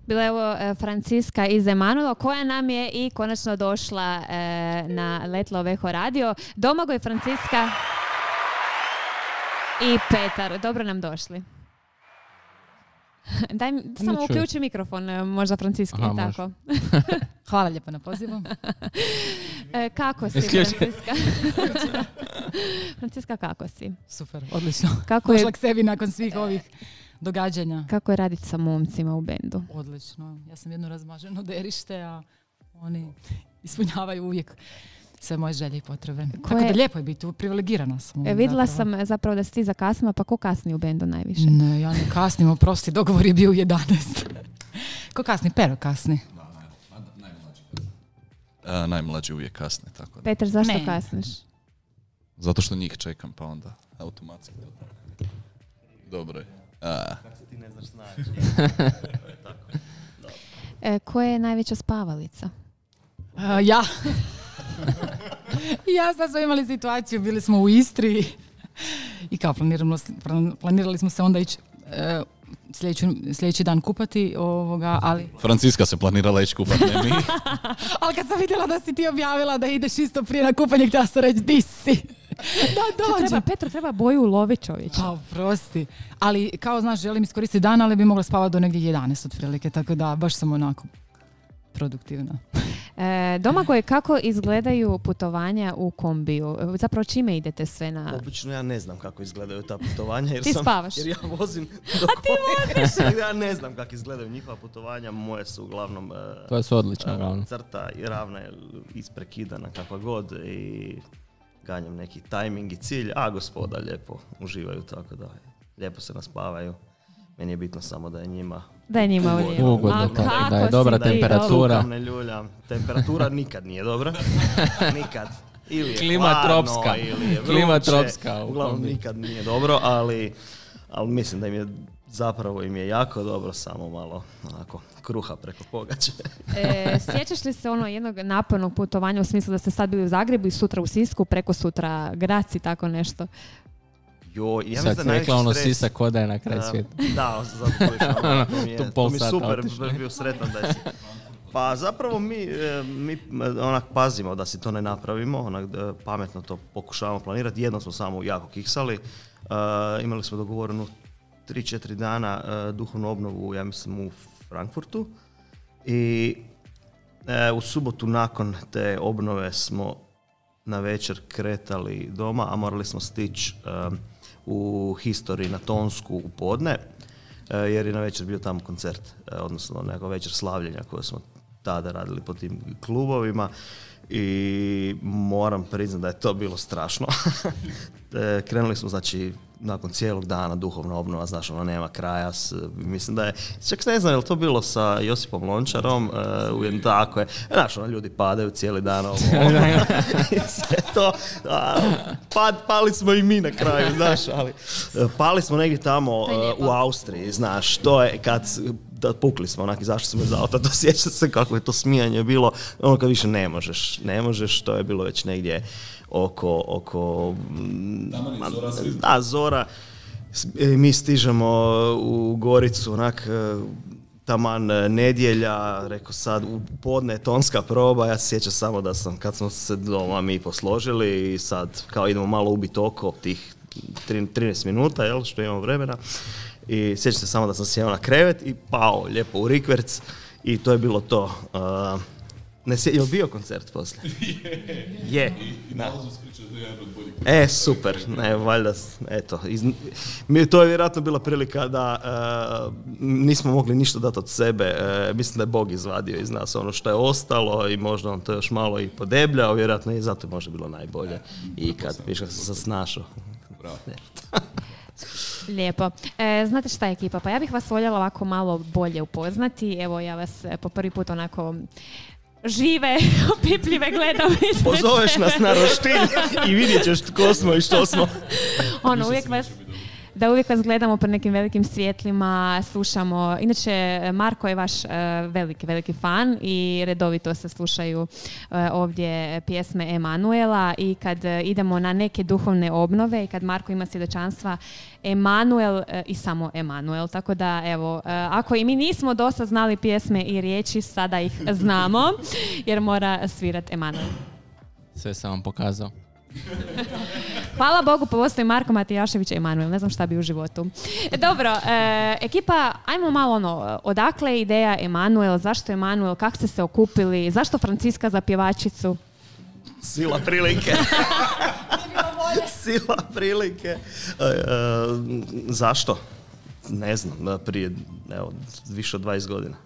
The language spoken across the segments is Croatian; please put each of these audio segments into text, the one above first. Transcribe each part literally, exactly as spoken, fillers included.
Bila je ovo Franciska iz Emanuela, koja nam je i konačno došla e, na Let Love Eho radio. Domagoj, Franciska i Petar. Dobro nam došli. Daj mi, samo uključi mikrofon, možda Franciski. Aha, tako. Hvala lijepo na pozivu. e, kako si, Franciska? Franciska, kako si? Super, odlično. Kako Došla je... k sebi nakon svih ovih događanja. Kako je raditi sa momcima u bendu? Odlično. Ja sam jedno razmaženo derište, a oni ispunjavaju uvijek sve moje želje i potrebe. Koje... Tako da lijepo je biti, privilegirana sam. E, vidjela zapravo. sam zapravo da si ti zakasnila, pa ko kasni u bendu najviše? Ne, ja ne kasnim, oprosti, dogovor je bio u jedanaest. Ko kasni? Pero kasni. Da, naj, najmlađi kasni. Uh, najmlađi uvijek kasni, tako da. Petar, zašto ne. kasniš? Zato što njih čekam, pa onda automatski. Dobro je. A. Kako se ti ne znaš snaći? e, koja je najveća spavalica? Uh, ja. Ja sad smo imali situaciju, bili smo u Istri i kao planirali, planirali smo se onda ići uh, sljedeći, sljedeći dan kupati, ovoga, ali... Franciska se planirala ići kupati, ne mi. Ali kad sam vidjela da si ti objavila da ideš isto prije na kupanje, htjela sam reći, di si? Da dođe. Treba, Petro, treba boju uloviti, čovječe. Pa, prosti. Ali, kao znaš, želim iskoristiti dan, ali bi mogla spavati do negdje jedanaest otprilike, tako da baš sam onako produktivna. E, Domagoj, kako izgledaju putovanja u kombiju? Zapravo čime idete sve na... Obično ja ne znam kako izgledaju ta putovanja. Jer ti sam, spavaš? Jer ja vozim do A ti voziš? Ja ne znam kako izgledaju njihova putovanja. Moje su uglavnom... Uh, to su odlične, ravno. Crta i ravna je isprekidana kakva god i ganjam neki tajming i cilj, a gospoda lijepo uživaju, tako da lijepo se naspavaju. Meni je bitno samo da je njima da je njima ugodno. Ugodno, da, da je dobra da temperatura. Je ne ljuljam. Temperatura nikad nije dobra. Nikad. Ili je klima hladno, tropska. Ili je vruće. Klima tropska. Uglavnom nikad nije dobro, ali, ali mislim da im je zapravo im je jako dobro, samo malo onako kruha preko pogače. e, sjećaš li se ono jednog napornog putovanja u smislu da ste sad bili u Zagrebu i sutra u Sisku, preko sutra Graci, tako nešto? Jo, ja sad si rekla ono Sisak koda je na kraj uh, svijeta. Da, zato ono, to mi je, to mi je super, otišli. Bio sretan da je. Pa zapravo mi, mi onak pazimo da si to ne napravimo, onak pametno to pokušavamo planirati. Jedno smo samo jako kiksali, uh, imali smo dogovorenu tri četiri dana uh, duhovnu obnovu, ja mislim u Frankfurtu i uh, u subotu nakon te obnove smo na večer kretali doma, a morali smo stići uh, u History na Tonsku u podne, jer je na večer bio tamo koncert, odnosno neka večer slavljenja koje smo tada radili po tim klubovima i moram priznati da je to bilo strašno. Krenuli smo, znači, nakon cijelog dana duhovna obnova, znaš, ono nema kraja. S, mislim da je, čak ne znam je li to bilo sa Josipom Lončarom, uh, tako je, znaš, ono, ljudi padaju cijeli dan, ovo, sve to, a, pad, pali smo i mi na kraju, znaš, ali pali smo negdje tamo uh, u Austriji, znaš, to je kad da pukli smo, onak, izašli smo iz auta, dosjeća se kako je to smijanje bilo, ono kad više ne možeš, ne možeš, to je bilo već negdje oko, oko ma, zora, da, zora, mi stižemo u Goricu, onak, taman nedjelja, rekao sad, u podne tonska proba, ja se sjećam samo da sam, kad smo se doma mi posložili i sad kao idemo malo ubiti oko tih trinaest minuta, jel, što imamo vremena. I sjećam se samo da sam sjeo na krevet i pao lijepo u rikverc i to je bilo to. Uh, ne sje, je li bio koncert poslije? Je. I nalazu skričeš da je jedan od boljih. E, super. Ne, valjda, eto. Iz, mi, to je vjerojatno bila prilika da uh, nismo mogli ništa dati od sebe. Uh, mislim da je Bog izvadio iz nas ono što je ostalo i možda on to još malo i podebljao. Vjerojatno i zato je možda bilo najbolje. I kad piše sam se snašao. Bravo. Lijepo. E, znate šta je ekipa? Pa ja bih vas voljela ovako malo bolje upoznati. Evo ja vas po prvi put onako žive, opipljive gledam. Pozoveš nas na roštilj i vidjet ćeš tko smo i što smo. Ono, uvijek vas, da uvijek vas gledamo pred nekim velikim svjetlima, slušamo. Inače, Marko je vaš uh, veliki, veliki fan i redovito se slušaju uh, ovdje pjesme Emanuela i kad uh, idemo na neke duhovne obnove i kad Marko ima svjedočanstva, Emanuel uh, i samo Emanuel. Tako da, evo, uh, ako i mi nismo dosta znali pjesme i riječi, sada ih znamo, jer mora svirat Emanuel. Sve sam vam pokazao. Hvala Bogu, postoji Marko Matijašević i Emanuel, ne znam šta bi u životu. Dobro, e, ekipa, ajmo malo ono, odakle je ideja Emanuel, zašto Emanuel, kako ste se okupili, zašto Franciska za pjevačicu? Sila prilike. Sila prilike. E, e, zašto? Ne znam, prije evo, više od dvadeset godina.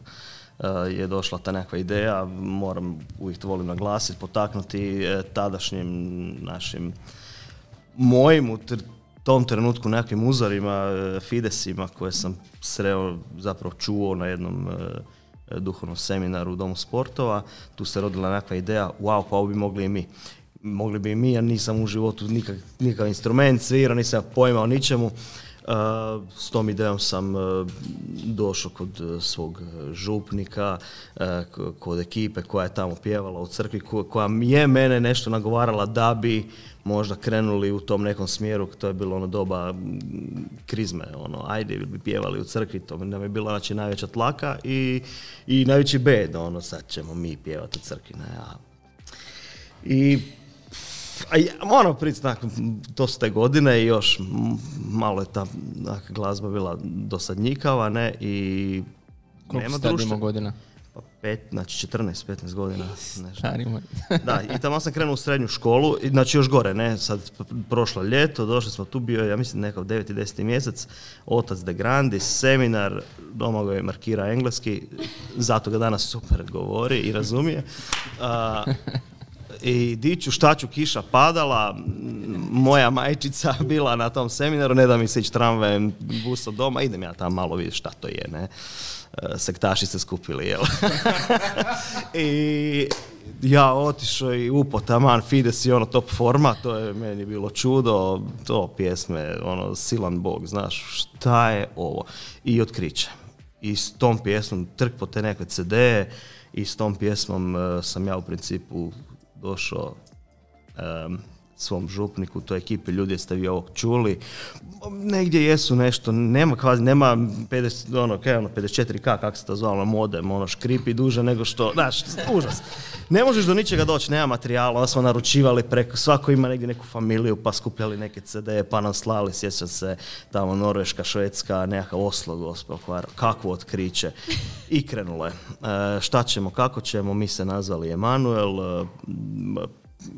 Uh, je došla ta nekakva ideja, moram, uvijek to volim naglasiti, potaknuti eh, tadašnjim našim mojim u tr- tom trenutku nekakvim uzorima, eh, Fidesima koje sam sreo, zapravo čuo na jednom eh, duhovnom seminaru u Domu sportova. Tu se rodila nekakva ideja, wow, pa ovo bi mogli i mi. Mogli bi i mi, ja nisam u životu nikak, nikakav instrument svirao, nisam pojma o ničemu. Uh, s tom idejom sam uh, došao kod uh, svog župnika, uh, kod ekipe koja je tamo pjevala u crkvi, ko, koja je mene nešto nagovarala da bi možda krenuli u tom nekom smjeru. To je bilo ono doba krizme, ono, ajde bi pjevali u crkvi, to nam je bila znači najveća tlaka i, i najveći bed, ono, sad ćemo mi pjevati u crkvi. Ne, a... I A ja, moram priznati, to su te godine i još malo je ta glazba bila dosadnjikava, ne, i koliko nema ste društva. imao godina? Pa pet, znači četrnaest petnaest godina. Starimo. Da, i tamo sam krenuo u srednju školu, znači još gore, ne, sad prošlo ljeto, došli smo tu, bio ja mislim nekakav deveti deseti mjesec, otac De Grandis, seminar, Domagoj markira engleski, zato ga danas super govori i razumije. A, i diću šta ću, kiša padala, moja majčica bila na tom seminaru, ne da mi se ići tramvajem, busom doma, idem ja tamo malo vidjeti šta to je, ne. Sektaši se skupili, jel? I ja otišao i upo taman Fides i ono top forma, to je meni bilo čudo, to pjesme, ono, silan Bog, znaš, šta je ovo? I otkriće. I s tom pjesmom trk po te neke ce de i s tom pjesmom uh, sam ja u principu došao um, svom župniku, toj ekipi, ljudi jeste vi ovog čuli, negdje jesu nešto, nema kvazi, nema pedeset, ono, kaj, ono, pedeset četiri ka, kako se to zvalo, modem, ono, škripi duže nego što, znaš, užas. Ne možeš do ničega doći, nema materijala, onda smo naručivali preko, svako ima negdje neku familiju, pa skupljali neke ce de, pa nam slali, sjećam se, tamo Norveška, Švedska, nekakav Oslo, gospel, kakvo otkriće. I krenulo je. E, šta ćemo, kako ćemo, mi se nazvali Emanuel, e,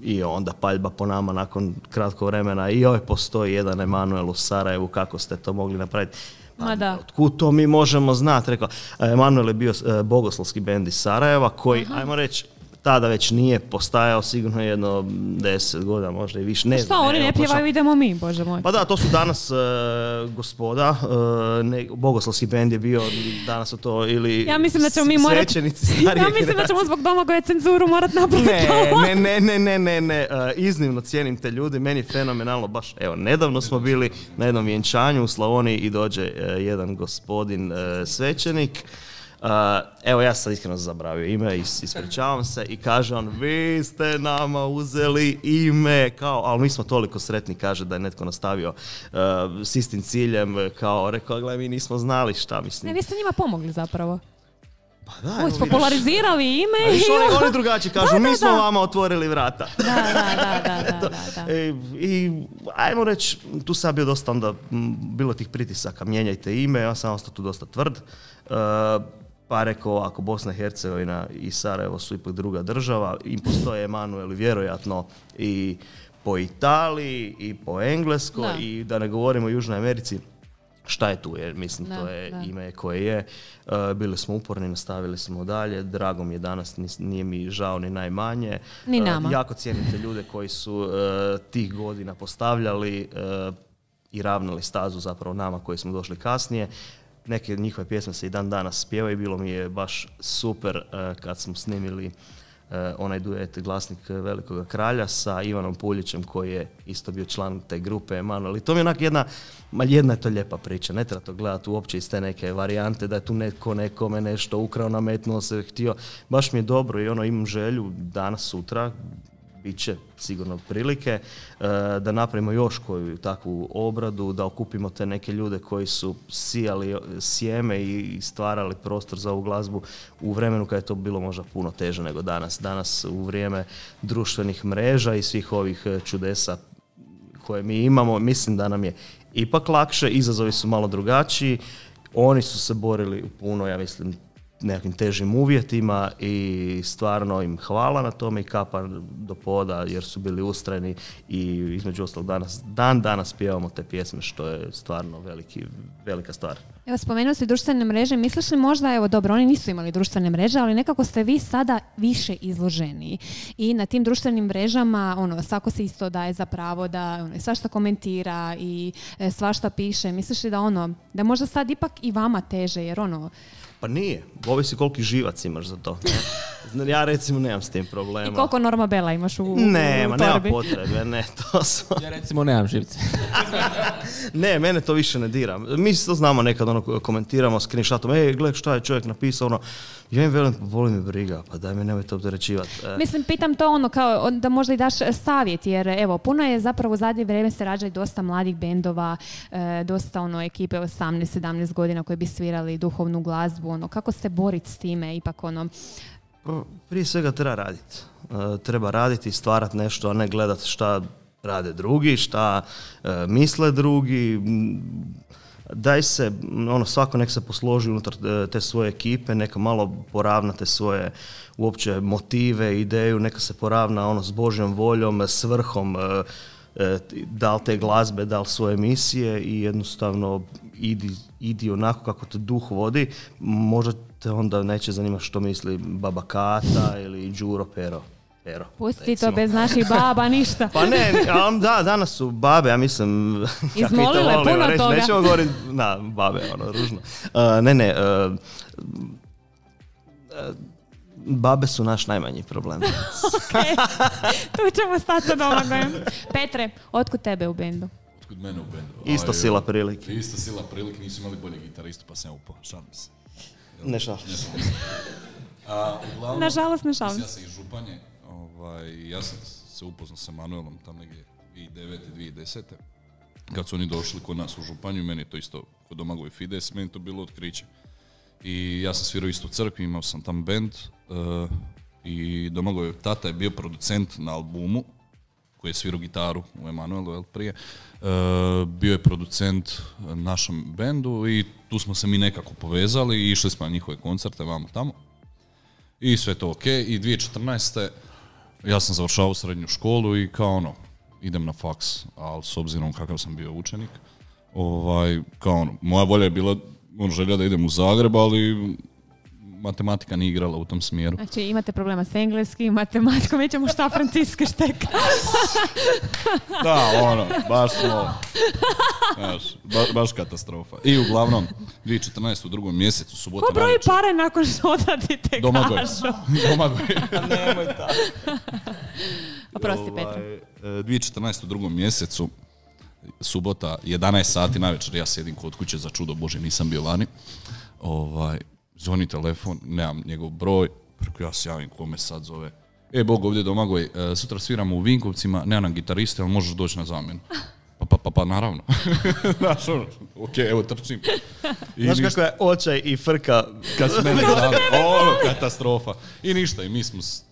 i onda paljba po nama nakon kratkog vremena i joj, postoji jedan Emanuel u Sarajevu, kako ste to mogli napraviti? Ma da. Otkud to mi možemo znati? Rekao, Emanuel je bio bogoslovski bend iz Sarajeva koji, aha, ajmo reći, tada već nije postajao sigurno jedno deset godina, možda i više. Ne šta, znam, oni ne pjevaju, idemo mi, Bože moj. Pa da, to su danas uh, gospoda, uh, ne, bogoslovski bend je bio, danas su to ili ja mislim da ćemo mi morat, svećenici starije ja mislim da ćemo zbog Domagoja cenzuru morat napraviti. Ne, ne, ne, ne, ne, ne, uh, iznimno cijenim te ljudi, meni je fenomenalno, baš, evo, nedavno smo bili na jednom vjenčanju u Slavoniji i dođe uh, jedan gospodin uh, svećenik. Uh, evo, ja sam iskreno zabravio ime, is, ispričavam se, i kaže on, vi ste nama uzeli ime, kao, ali mi smo toliko sretni, kaže, da je netko nastavio uh, s istim ciljem, kao, rekao, gledaj, mi nismo znali šta, mislim. Ne, vi ste njima pomogli zapravo. Pa da, Ovo, popularizirali ime. Viš, oni, oni drugačiji kažu, da, da, mi smo da. vama otvorili vrata. Da, da, da, da, da, da. I, I ajmo reći, tu sam bio dosta onda, bilo tih pritisaka, mijenjajte ime, ja sam ostao tu dosta tvrd. Uh, Pa rekao ovako, Bosna i Hercegovina i Sarajevo su ipak druga država, im postoje Emanuel vjerojatno i po Italiji i po Engleskoj, da. I da ne govorimo o Južnoj Americi, šta je tu, jer mislim da, to je da. ime koje je. Uh, bili smo uporni, nastavili smo dalje, drago mi je danas, nije mi žao ni najmanje. Ni nama. Uh, jako cijenim te ljude koji su uh, tih godina postavljali uh, i ravnali stazu zapravo nama koji smo došli kasnije. Neke njihove pjesme se i dan danas pjevaju, bilo mi je baš super uh, kad smo snimili onaj duet Glasnik Velikoga kralja sa Ivanom Puljićem koji je isto bio član te grupe Emanuel. I to mi je onak jedna, ma jedna je to lijepa priča, ne treba to gledati uopće iz te neke varijante da je tu neko nekome nešto ukrao, nametnuo se, htio. Baš mi je dobro i ono imam želju danas, sutra, bit će sigurno prilike da napravimo još koju takvu obradu, da okupimo te neke ljude koji su sijali sjeme i stvarali prostor za ovu glazbu u vremenu kada je to bilo možda puno teže nego danas. Danas u vrijeme društvenih mreža i svih ovih čudesa koje mi imamo, mislim da nam je ipak lakše, izazovi su malo drugačiji, oni su se borili u puno, ja mislim, nekakvim težim uvjetima i stvarno im hvala na tome i kapa do poda jer su bili ustrajni i između ostalog danas, dan danas pjevamo te pjesme što je stvarno veliki, velika stvar. Evo, spomenuo si društvene mreže, misliš li možda, evo dobro, oni nisu imali društvene mreže, ali nekako ste vi sada više izloženi i na tim društvenim mrežama ono, svako se isto daje za pravo da ono, svašta komentira i e, svašta piše. Misliš li da ono, da možda sad ipak i vama teže jer ono, pa nije, ovisi koliki živac imaš za to. Ne? Ja recimo nemam s tim problema. I koliko Norma Bela imaš u, u, nema, u torbi? Nema potrebe, ne, to su... Ja recimo nemam živce. Ne, mene to više ne dira. Mi to znamo nekad, ono, komentiramo screenshotom, ej, gledaj šta je čovjek napisao, ono, ja im velim, boli me briga, pa daj mi nemojte opterećivati. E. Mislim, pitam to ono kao da možda i daš savjet, jer evo, puno je zapravo u zadnje vrijeme se rađa i dosta mladih bendova, e, dosta ono ekipe osamnaest sedamnaest godina koji bi svirali duhovnu glazbu, ono, kako se boriti s time, ipak ono... Prije svega treba raditi. E, treba raditi i stvarati nešto, a ne gledati šta rade drugi, šta e, misle drugi. Daj se, ono, svako nek se posloži unutar te svoje ekipe, neka malo poravna te svoje uopće motive, ideju, neka se poravna ono s Božjom voljom, svrhom, e, e, da li te glazbe, da li svoje misije i jednostavno idi, idi onako kako te duh vodi, možda te onda neće zanimati što misli baba Kata ili Đuro Pero. Pero, pusti recimo. To bez naših baba, ništa. Pa ne, da, danas su babe, ja mislim... Izmolile ja puno reći, toga. Nećemo govoriti, na, babe, ono, ružno. Uh, ne, ne, uh, uh, babe su naš najmanji problem. Okay. Tu ćemo stati sa Domagojem. Petre, otkud tebe u bendu? Otkud mene u bendu? Isto Aj, sila prilike. Isto sila prilike, nisu imali bolje gitaristu, pa sam ja upao, šalim se. Ne šalim se. Nažalost, ne šalim se. Ja sam iz Županje, ovaj, ja sam se upoznao sa Manuelom tam negdje dvije tisuće devete dvije tisuće desete kad su oni došli kod nas u Županju, meni je to isto kod Domagoj Fides, meni to bilo otkriće. I ja sam svirao isto u crkvi, imao sam tam band uh, i Domagoj tata je bio producent na albumu koji je svirao gitaru u Emanuelu, jel, prije. Uh, bio je producent našem bendu i tu smo se mi nekako povezali i išli smo na njihove koncerte, vamo tamo. I sve to ok. I dvije tisuće četrnaeste ja sam završavao srednju školu i kao ono, idem na faks, ali s obzirom kakav sam bio učenik, ovaj, kao ono, moja volja je bila on želja da idem u Zagreb, ali matematika nije igrala u tom smjeru. Znači imate problema s engleskim, matematikom, mi ćemo šta Franciske šteka. Da, ono, baš smo, baš, ba, baš katastrofa. I uglavnom, dvije tisuće četrnaeste u drugom mjesecu, subota ko broji navečer. pare nakon što odradite Domagoj. kažu? Domagoj. Nemoj tako. Oprosti, Petra. dvije tisuće četrnaeste u drugom mjesecu, subota, jedanaest sati navečer, ja sjedim kod kuće, za čudo Bože, nisam bio vani. Ovaj, zvoni telefon, nemam njegov broj, preko ja se javim kome sad zove. E, Bog, ovdje Domagoj, sutra sviramo u Vinkovcima, nema nam gitariste, ali možeš doći na zamjenu. Pa, pa, pa, pa naravno. Znaš, ono, ok, evo, trčim. I Znaš ništa, kako je očaj i frka. kad su mene zvali, ono, katastrofa. I ništa, i mi smo, s-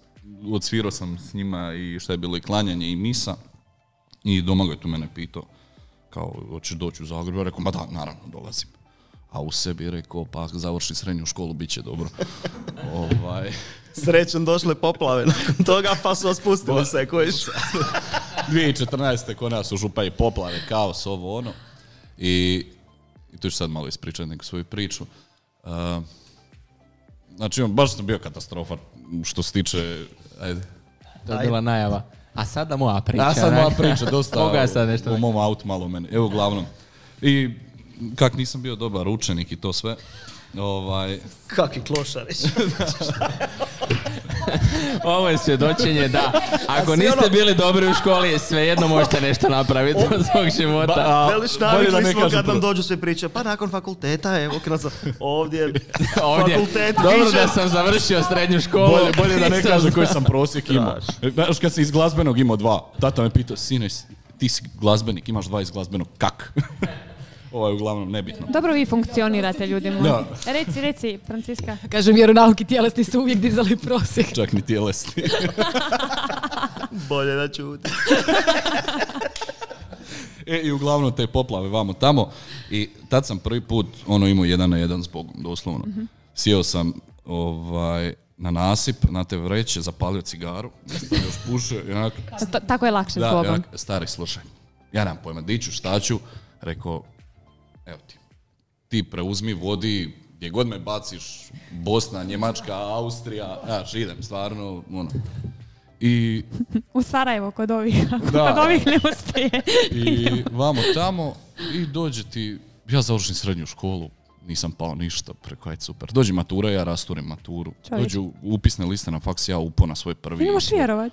odsvirao sam s njima i šta je bilo i klanjanje i misa. I Domagoj tu mene pitao, kao, hoćeš doći u Zagreb? Ja rekao, ma da, naravno, dolazim. A u sebi je rekao, pa završi srednju školu, bit će dobro. ovaj, Srećom došle poplave nakon toga, pa su vas pustili sve, kojiš. dvije tisuće četrnaeste kod nas u Županji poplave, kaos, ovo ono. I, i tu ću sad malo ispričati neku svoju priču. Uh, znači, on, baš sam bio katastrofa što se tiče, ajde, To je bila najava. A sada moja priča. ja sad onak. moja priča, dosta Mogu ja sad nešto u mom autu malo mene. Evo, uglavnom. I kak nisam bio dobar učenik i to sve, Ovaj, Kakvi klošarić. Ovo je svjedočenje da ako si niste ono- bili dobri u školi, svejedno možete nešto napraviti od svog života. a, Veliš, bolje da navikli ne smo kažem kad nam prvo. dođu sve priče, pa nakon fakulteta, evo, kad nas ovdje, Ovdje, fakultet dobro više. da sam završio srednju školu. Bolje, bolje da ne Nisam kažem koji znao. sam prosjek imao. Znaš, kad si iz glazbenog imao dva, tata me pitao, sine, ti si glazbenik, imaš dva iz glazbenog, kak? Ovo je uglavnom nebitno. Dobro vi funkcionirate, ljudi moji. Da. Reci, reci, Franciska. Kažem, vjeronauk i tjelesni su uvijek dizali prosjek. Čak ni tjelesni. bolje da čuti. E, i uglavnom te poplave vamo tamo. I tad sam prvi put ono imao jedan na jedan s Bogom, doslovno. Sjeo sam ovaj, na nasip, na te vreće, zapalio cigaru, sam još pušio i onako, Ta- tako je lakše s da, Bogom. onak, stari, slušaj, ja nemam pojma, di ću, šta ću, rekao, evo ti, ti preuzmi, vodi, gdje god me baciš, Bosna, Njemačka, Austrija, znaš, idem, stvarno, ono. I, U Sarajevo kod ovih. Da. Kod ovih ne uspije. i vamo tamo, i dođe ti, ja završim srednju školu, nisam pao ništa, preko ajde super. Dođe matura, ja rasturim maturu. Čovječ. Dođu upisne liste na faks, ja upo na svoj prvi. Ti ne možeš vjerovat.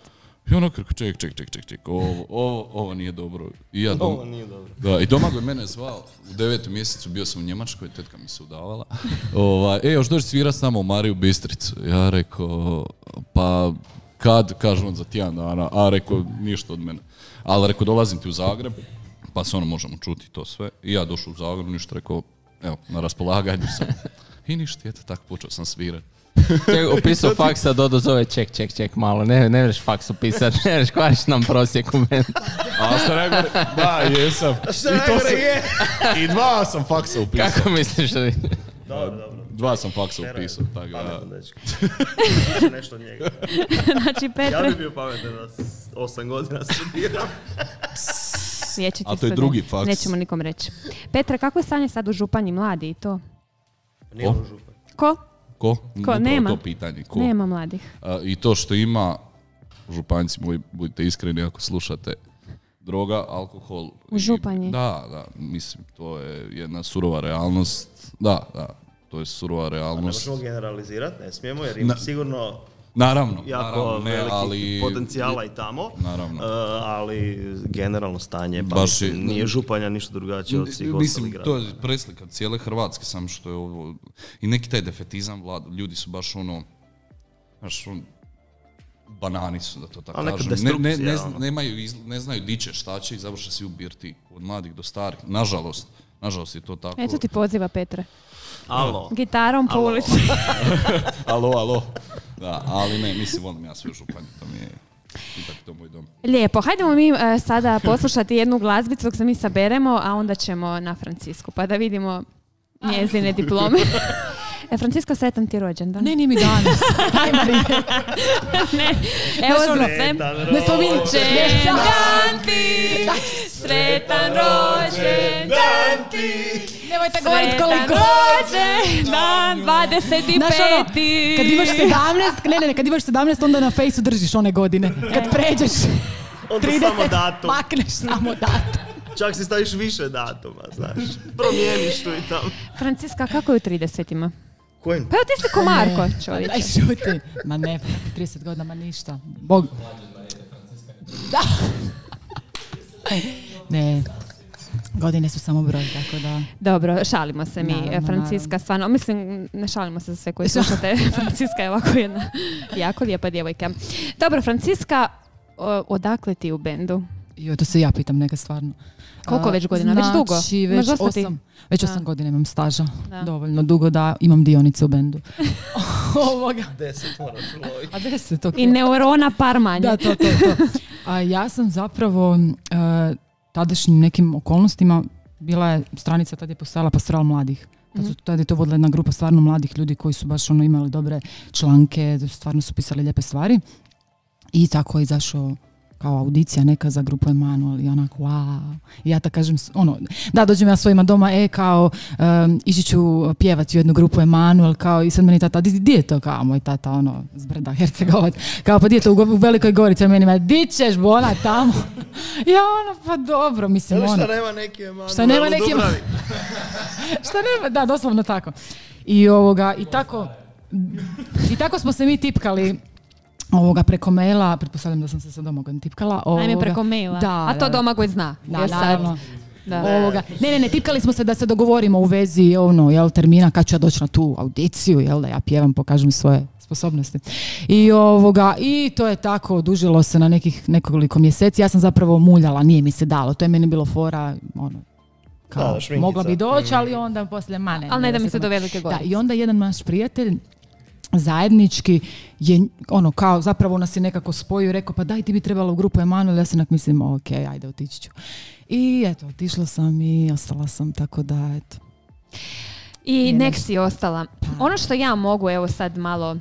I ono kako, ček, ček, ček, ček, ček, ovo, ovo, ovo nije dobro. I ja dom... Ovo nije dobro. Da, i Domagoj mene zvao, u devetom mjesecu bio sam u Njemačkoj, tetka mi se udavala. Ovaj, e, još dođi svira s nama u Mariju Bistricu. Ja rekao, pa kad, kaže on za tjedan dana, a rekao, ništa od mene. Ali rekao, dolazim ti u Zagreb, pa se ono možemo čuti to sve. I ja došao u Zagreb, ništa, rekao, evo, na raspolaganju sam. I ništa, eto, tako počeo sam svirati. Ček, upisao faksa, Dodo zove, ček, ček, ček, malo, ne, ne vreš faks upisat, ne vreš kvariš nam prosjek u meni. A što najgore, da, jesam. Šta najgore je? I dva sam faksa upisao. Kako misliš da... Dobro, dobro. Dva sam faksa upisao, tako da. Pametan dečko. Može nešto od njega. Znači, Ja Petre, bi bio pametan da s osam godina studiram. vječiti A to je student. drugi faks. Nećemo nikom reći. Petra, kako je stanje sad u Županji, mladi i to? Nije ono župan. Ko? Ko? Ko? Upravo Nema. to pitanje. Ko? Nema mladih. A, I to što ima, županjci moji, budite iskreni ako slušate, droga, alkohol. U i- Županji? Da, da, mislim, to je jedna surova realnost. Da, da, to je surova Ne realnost. možemo generalizirati, ne smijemo, jer ima Na- sigurno Naravno, jako naravno, ne, velikih ali... potencijala i tamo. Naravno. Uh, ali generalno stanje, pa Baš mislim, je- nije Županja ništa drugačije od svih Mislim, ostalih to gradova. je preslika cijele Hrvatske, samo što je ovo... I neki taj defetizam vlada, ljudi su baš ono... Znaš, on, banani su, da to tako Ali neka kažem. Ne, ne, ne, destrukcija, zna- ono. nemaju, iz- ne znaju di će, šta će i završe svi u birti. Od mladih do starih. Nažalost, nažalost je to tako. Eto ti poziva, Petre. Alo. Gitarom po Alo. ulici. Alo, alo. Da, ali ne, mislim, volim ja sve u Županji, to mi je ipak to moj dom. Lijepo, hajdemo mi e, sada poslušati jednu glazbicu dok se mi saberemo, a onda ćemo na Francisku, pa da vidimo njezine diplome. E, Francisko, sretan ti rođendan. Ne, nije mi danas. Daj, Marije. Ne, evo Znaš ono, za sve. Ne spominj. Rođendan ti, sretan rođendan ti, Nemojte govoriti sretan koliko. rođendan, dvadeset Znaš ono, peti. kad imaš sedamnaest, ne, ne, ne, kad imaš sedamnaest, onda na fejsu držiš one godine. Kad pređeš Onda trideset, samo datum. makneš samo datum. Čak si staviš više datuma, znaš. Promijeniš tu i tamo. Franciska, kako je u tridesetima? Kojim? Pa evo ti si ko Marko, čovječe. Daj šuti. Ma ne, trideset godina, ma ništa. Bog. Da. Ne, godine su samo broj, tako da... Dobro, šalimo se mi, Naravno, Franciska, stvarno, mislim, ne šalimo se za sve koji slušate, Franciska je ovako jedna jako lijepa djevojka. Dobro, Franciska, o- odakle ti u bendu? Jo, to se ja pitam neka stvarno. Koliko A, već godina? Već dugo? Znači, već Imaš dosta ti? osam, već Da. osam godina imam staža. Da. Dovoljno dugo da imam dionice u bendu. Ovoga. Deset moraš uloviti. A deset, ok. I neurona par manje. Da, to, to, to. A ja sam zapravo uh, tadašnjim nekim okolnostima, bila je stranica, tad je postojala Pastoral mladih. Tad, su, tad je to vodila jedna grupa stvarno mladih ljudi koji su baš ono imali dobre članke, stvarno su pisali lijepe stvari. I tako je izašao kao audicija neka za grupu Emanuel i onako wow. I ja tako kažem, ono, da dođem ja svojima doma, e kao um, ići ću pjevati u jednu grupu Emanuel, kao i sad meni tata, di, di je to, kao moj tata, ono, z brda Hercegovac, kao pa di je to u, u Velikoj Gorici, a meni ma, di ćeš bona tamo? Ja ono, pa dobro, mislim, Ili ono. šta nema neki Emanuel Šta nema u neki Dubravi? Šta nema, da, doslovno tako. I, ovoga, i, tako, i tako smo se mi tipkali ovoga preko maila, pretpostavljam da sam se sa Domagojom tipkala. Ovoga. Ajme preko maila, da, a to da, Domagoj zna. Da, jer sad- naravno. Da. Ovoga. Ne, ne, ne, tipkali smo se da se dogovorimo u vezi ono, jel, termina kad ću ja doći na tu audiciju, jel, da ja pjevam, pokažem svoje sposobnosti. I, ovoga, i to je tako, odužilo se na nekih nekoliko mjeseci. Ja sam zapravo muljala, nije mi se dalo. To je meni bilo fora, ono, kao, Da, šminkica. mogla bi doći, ali onda poslije mane. Ali ne da mi se do velike Da, godine. i onda jedan naš prijatelj zajednički je ono kao zapravo nas je nekako spojio i rekao pa daj ti bi trebala u grupu Emanuel, ja se onak mislim ok, ajde otići ću. I eto, otišla sam i ostala sam, tako da eto. I Je nek nešto. si ostala. Ono što ja mogu, evo sad malo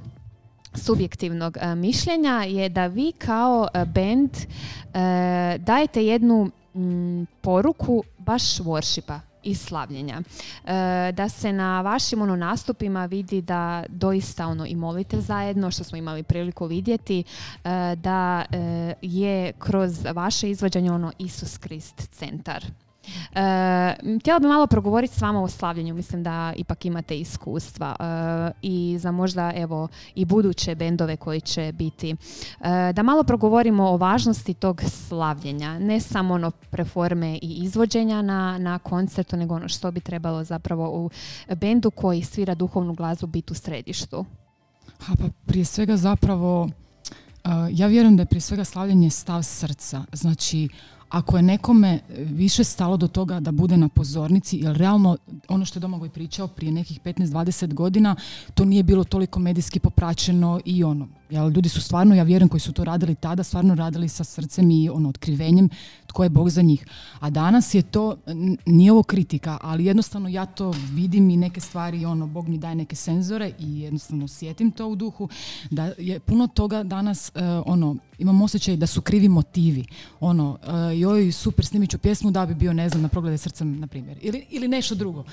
subjektivnog e, mišljenja je da vi kao e, band e, dajete jednu mm, poruku baš worshipa i slavljenja. E, da se na vašim ono nastupima vidi da doista ono i molite zajedno, što smo imali priliku vidjeti, e, da e, je kroz vaše izvođenje ono Isus Krist centar. E, htjela bi malo progovoriti s vama o slavljenju, mislim da ipak imate iskustva e, i za možda evo i buduće bendove koji će biti, e, da malo progovorimo o važnosti tog slavljenja, ne samo ono preforme i izvođenja na, na koncertu, nego ono što bi trebalo zapravo u bendu koji svira duhovnu glazbu biti u središtu. Ha, pa prije svega zapravo, uh, ja vjerujem da je prije svega slavljenje stav srca. Znači, ako je nekome više stalo do toga da bude na pozornici, jer realno ono što je Domagoj pričao prije nekih petnaest dvadeset godina, to nije bilo toliko medijski popraćeno i ono, jel, ljudi su stvarno, ja vjerujem koji su to radili tada, stvarno radili sa srcem i ono, otkrivenjem tko je Bog za njih. A danas je to, n- nije ovo kritika, ali jednostavno ja to vidim i neke stvari, ono, Bog mi daje neke senzore i jednostavno osjetim to u duhu, da je puno toga danas, uh, ono, imam osjećaj da su krivi motivi. Ono, uh, joj, super, snimit ću pjesmu da bi bio, ne znam, na Proglede srcem, na primjer. Ili, ili nešto drugo.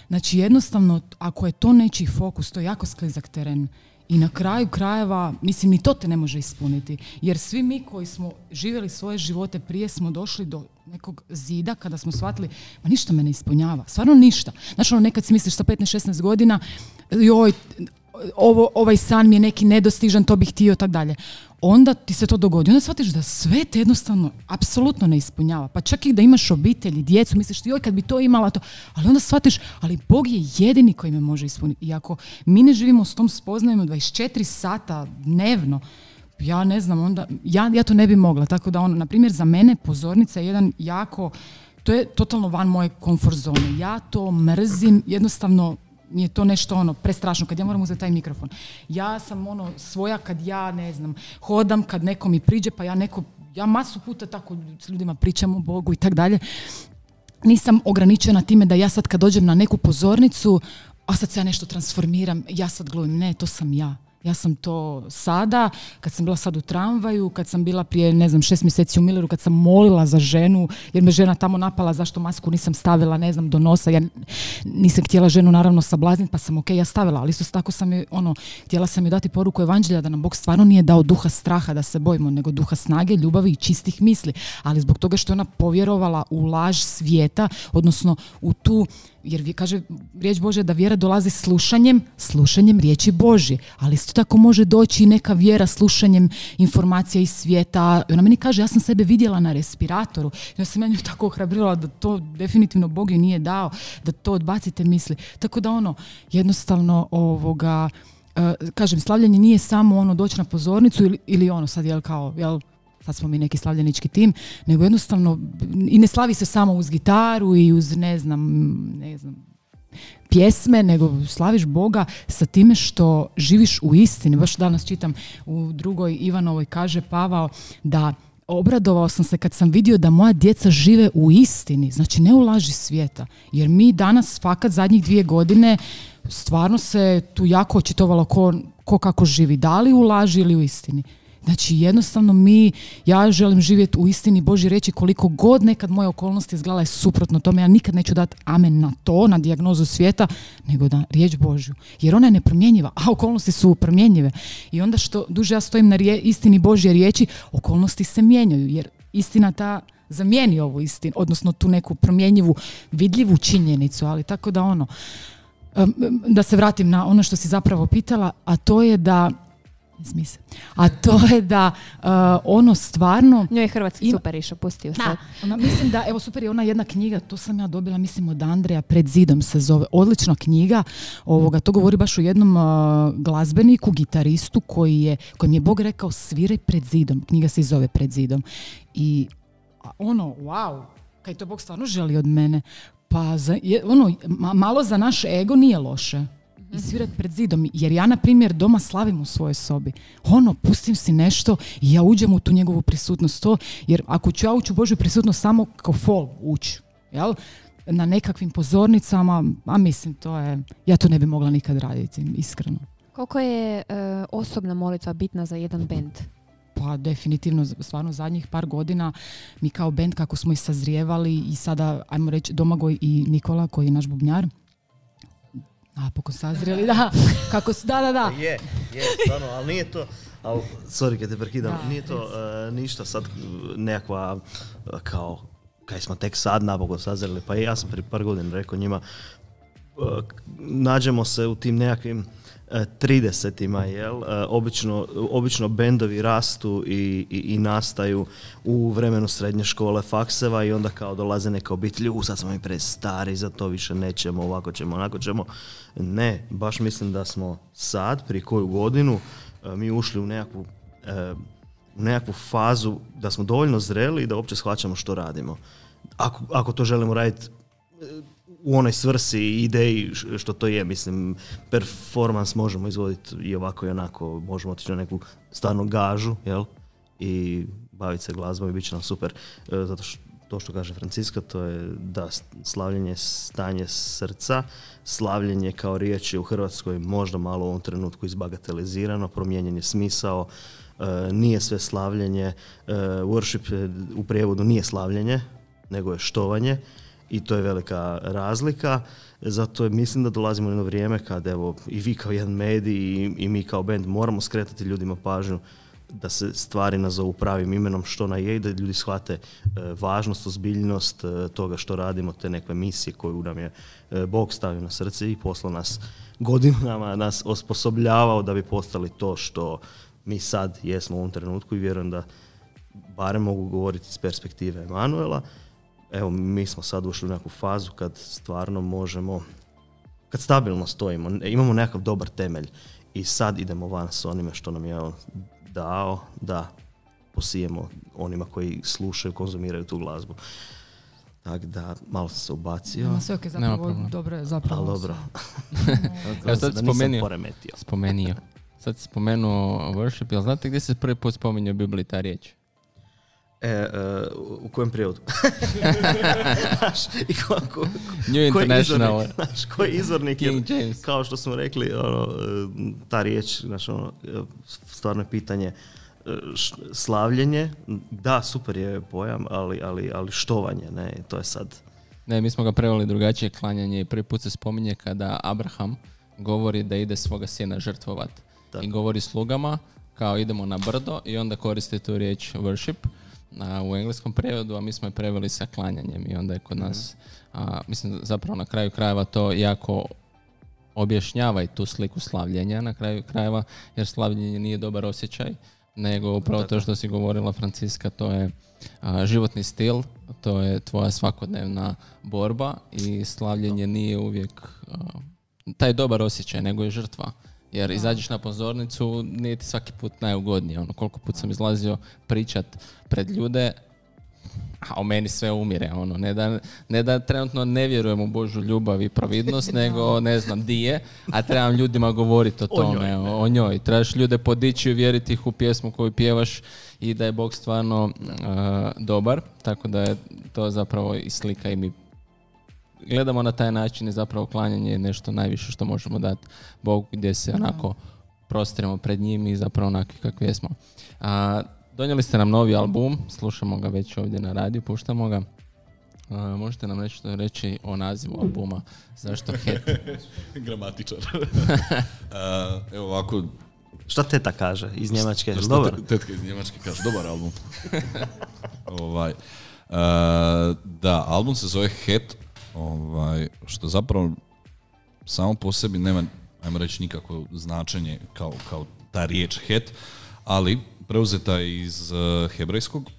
Znači, jednostavno, ako je to nečiji fokus, to je jako sklizak teren. I na kraju krajeva, mislim, ni to te ne može ispuniti. Jer svi mi koji smo živjeli svoje živote prije smo došli do nekog zida kada smo shvatili, ma ništa me ne ispunjava. Stvarno ništa. Znaš, ono, nekad si misliš sa petnaest šesnaest godina, joj, ovo, ovaj san mi je neki nedostižan, to bih htio, tak dalje. Onda ti se to dogodi. Onda shvatiš da sve te jednostavno apsolutno ne ispunjava. Pa čak i da imaš obitelj, djecu, misliš joj kad bi to imala to. Ali onda shvatiš, ali Bog je jedini koji me može ispuniti. I ako mi ne živimo s tom spoznajom dvadeset četiri sata dnevno, ja ne znam, onda, ja, ja to ne bi mogla. Tako da ono, na primjer, za mene pozornica je jedan jako, to je totalno van moje komfort zone. Ja to mrzim, jednostavno mi je to nešto ono prestrašno kad ja moram uzeti taj mikrofon. Ja sam ono svoja kad ja ne znam hodam, kad neko mi priđe pa ja neko, ja masu puta tako s ljudima pričam o Bogu i tak dalje. Nisam ograničena time da ja sad kad dođem na neku pozornicu, a sad se ja nešto transformiram, ja sad glumim, ne, to sam ja. Ja sam to sada, kad sam bila sad u tramvaju, kad sam bila prije, ne znam, šest mjeseci u Milleru, kad sam molila za ženu, jer me žena tamo napala zašto masku nisam stavila, ne znam, do nosa. Ja nisam htjela ženu naravno sablazniti, pa sam ok, ja stavila, ali isto tako sam je, ono, htjela sam joj dati poruku evanđelja da nam Bog stvarno nije dao duha straha da se bojimo, nego duha snage, ljubavi i čistih misli. Ali zbog toga što je ona povjerovala u laž svijeta, odnosno u tu, jer kaže riječ Božja da vjera dolazi slušanjem, slušanjem riječi Božje, ali isto tako može doći i neka vjera slušanjem informacija iz svijeta. I ona meni kaže, ja sam sebe vidjela na respiratoru, ja sam ja nju tako ohrabrila da to definitivno Bog joj nije dao, da to odbacite misli. Tako da ono, jednostavno ovoga, uh, kažem, slavljenje nije samo ono doći na pozornicu ili, ili ono sad jel kao, jel, sad smo mi neki slavljenički tim, nego jednostavno i ne slavi se samo uz gitaru i uz ne znam, ne znam, pjesme, nego slaviš Boga sa time što živiš u istini. Baš danas čitam u drugoj Ivanovoj, kaže Pavao da obradovao sam se kad sam vidio da moja djeca žive u istini, znači ne u laži svijeta. Jer mi danas fakat zadnjih dvije godine stvarno se tu jako očitovalo ko, ko kako živi, da li u laži ili u istini. Znači jednostavno mi, ja želim živjeti u istini Božje reći koliko god nekad moje okolnosti izgledale suprotno tome, ja nikad neću dati amen na to, na dijagnozu svijeta, nego da riječ Božju. Jer ona je nepromjenjiva, a okolnosti su promjenjive. I onda što duže ja stojim na rije, istini Božje riječi, okolnosti se mijenjaju, jer istina ta zamijeni ovu istinu, odnosno tu neku promjenjivu, vidljivu činjenicu, ali tako da ono, um, da se vratim na ono što si zapravo pitala, a to je da Smise. A to je da uh, ono stvarno... Njoj je hrvatski ima... super išao, pusti ju sad. Da, ona, mislim da, evo super je ona jedna knjiga, to sam ja dobila, mislim od Andreja, Pred zidom se zove, odlična knjiga, ovoga, to govori baš o jednom uh, glazbeniku, gitaristu koji je, kojem je Bog rekao sviraj pred zidom, knjiga se i zove Pred zidom. I ono, wow, kaj to Bog stvarno želi od mene, pa za, je, ono, ma, malo za naš ego nije loše. I svirati pred zidom, jer ja na primjer doma slavim u svojoj sobi. Ono, pustim si nešto i ja uđem u tu njegovu prisutnost. To, jer ako ću ja ući u Božju prisutnost samo kao fol ući, jel? Na nekakvim pozornicama, a mislim to je, ja to ne bi mogla nikad raditi, iskreno. Koliko je uh, osobna molitva bitna za jedan bend? Pa definitivno, stvarno zadnjih par godina mi kao bend kako smo i sazrijevali i sada, ajmo reći, Domagoj i Nikola koji je naš bubnjar, napokon sazrijeli, da, kako su, da, da, da. Je, je, stvarno, ali nije to, ali, sorry kad te prekidam, da, nije to uh, ništa sad nekakva, uh, kao, kaj smo tek sad napokon sazrijeli, pa ja sam prije par godina rekao njima, uh, nađemo se u tim nekakvim tridesetima, jel? Uh, obično, obično bendovi rastu i, i, i nastaju u vremenu srednje škole, fakseva i onda kao dolaze neka obitelj, u sad smo mi prestari, za to više nećemo, ovako ćemo, onako ćemo. Ne, baš mislim da smo sad, prije koju godinu, uh, mi ušli u nekakvu, uh, u nekakvu fazu da smo dovoljno zreli i da uopće shvaćamo što radimo. Ako, ako to želimo raditi uh, u onoj svrsi i ideji što to je, mislim, performans možemo izvoditi i ovako i onako, možemo otići na neku stvarnu gažu, jel? I baviti se glazbom i bit će nam super. E, zato što to što kaže Franciska, to je da slavljenje stanje srca, slavljenje kao riječ je u Hrvatskoj možda malo u ovom trenutku izbagatelizirano, promijenjen je smisao, e, nije sve slavljenje, e, worship u prijevodu nije slavljenje, nego je štovanje. I to je velika razlika, zato mislim da dolazimo u jedno vrijeme kad evo i vi kao jedan medij i, i mi kao band moramo skretati ljudima pažnju da se stvari nazovu pravim imenom što ona je i da ljudi shvate e, važnost, ozbiljnost e, toga što radimo, te neke misije koju nam je e, Bog stavio na srce i poslao nas godinama, nas osposobljavao da bi postali to što mi sad jesmo u ovom trenutku i vjerujem da barem mogu govoriti iz perspektive Emanuela. Evo, mi smo sad ušli u neku fazu kad stvarno možemo, kad stabilno stojimo, imamo nekakav dobar temelj i sad idemo van s onime što nam je on dao da posijemo onima koji slušaju, konzumiraju tu glazbu. Tako da, malo sam se ubacio. Nema sve ok, zapravo dobro je zapravo. Ali dobro. Ja sad spomenio, spomenio. Sad si spomenuo worship, jel znate gdje se prvi put spominje u Bibliji ta riječ? E, uh, u kojem prijevodu? I ko, ko, New International. Koji izvornik, znaš, koji izvornik King je, James. kao što smo rekli, ono, ta riječ, znaš, ono, stvarno je pitanje slavljenje, da, super je pojam, ali, ali, ali štovanje, ne, to je sad. Ne, mi smo ga preveli drugačije, klanjanje i prvi put se spominje kada Abraham govori da ide svoga sina žrtvovat. I govori slugama, kao idemo na brdo i onda koristi tu riječ worship a, u engleskom prevodu, a mi smo je preveli sa klanjanjem i onda je kod nas, a, mislim zapravo na kraju krajeva to jako objašnjava i tu sliku slavljenja na kraju krajeva, jer slavljenje nije dobar osjećaj, nego upravo to što si govorila Franciska, to je a, životni stil, to je tvoja svakodnevna borba i slavljenje nije uvijek a, taj dobar osjećaj, nego je žrtva. Jer da. Izađeš na pozornicu, nije ti svaki put najugodnije. Ono, koliko put sam izlazio pričat pred ljude, a o meni sve umire. Ono, ne, da, ne da trenutno ne vjerujem u Božju ljubav i providnost, nego ne znam di je, a trebam ljudima govoriti o tome, o njoj. O, o njoj. Trebaš ljude podići i uvjeriti ih u pjesmu koju pjevaš i da je Bog stvarno uh, dobar. Tako da je to zapravo i slika i mi gledamo na taj način i zapravo klanjanje je nešto najviše što možemo dati Bogu, gdje se onako prostiremo pred njim i zapravo onakvi kakvi jesmo. A, donijeli ste nam novi album, slušamo ga već ovdje na radiju, puštamo ga. A, možete nam nešto reći o nazivu albuma? Zašto Het? Gramatičar. uh, evo ovako. Šta teta kaže iz Njemačke? Šta dobar? Tetka iz Njemačke kaže, dobar album. ovaj, uh, da, album se zove Het. Ovaj, što zapravo samo po sebi nema, ajmo reći, nikakvo značenje kao, kao ta riječ het, ali preuzeta je iz uh, hebrejskog,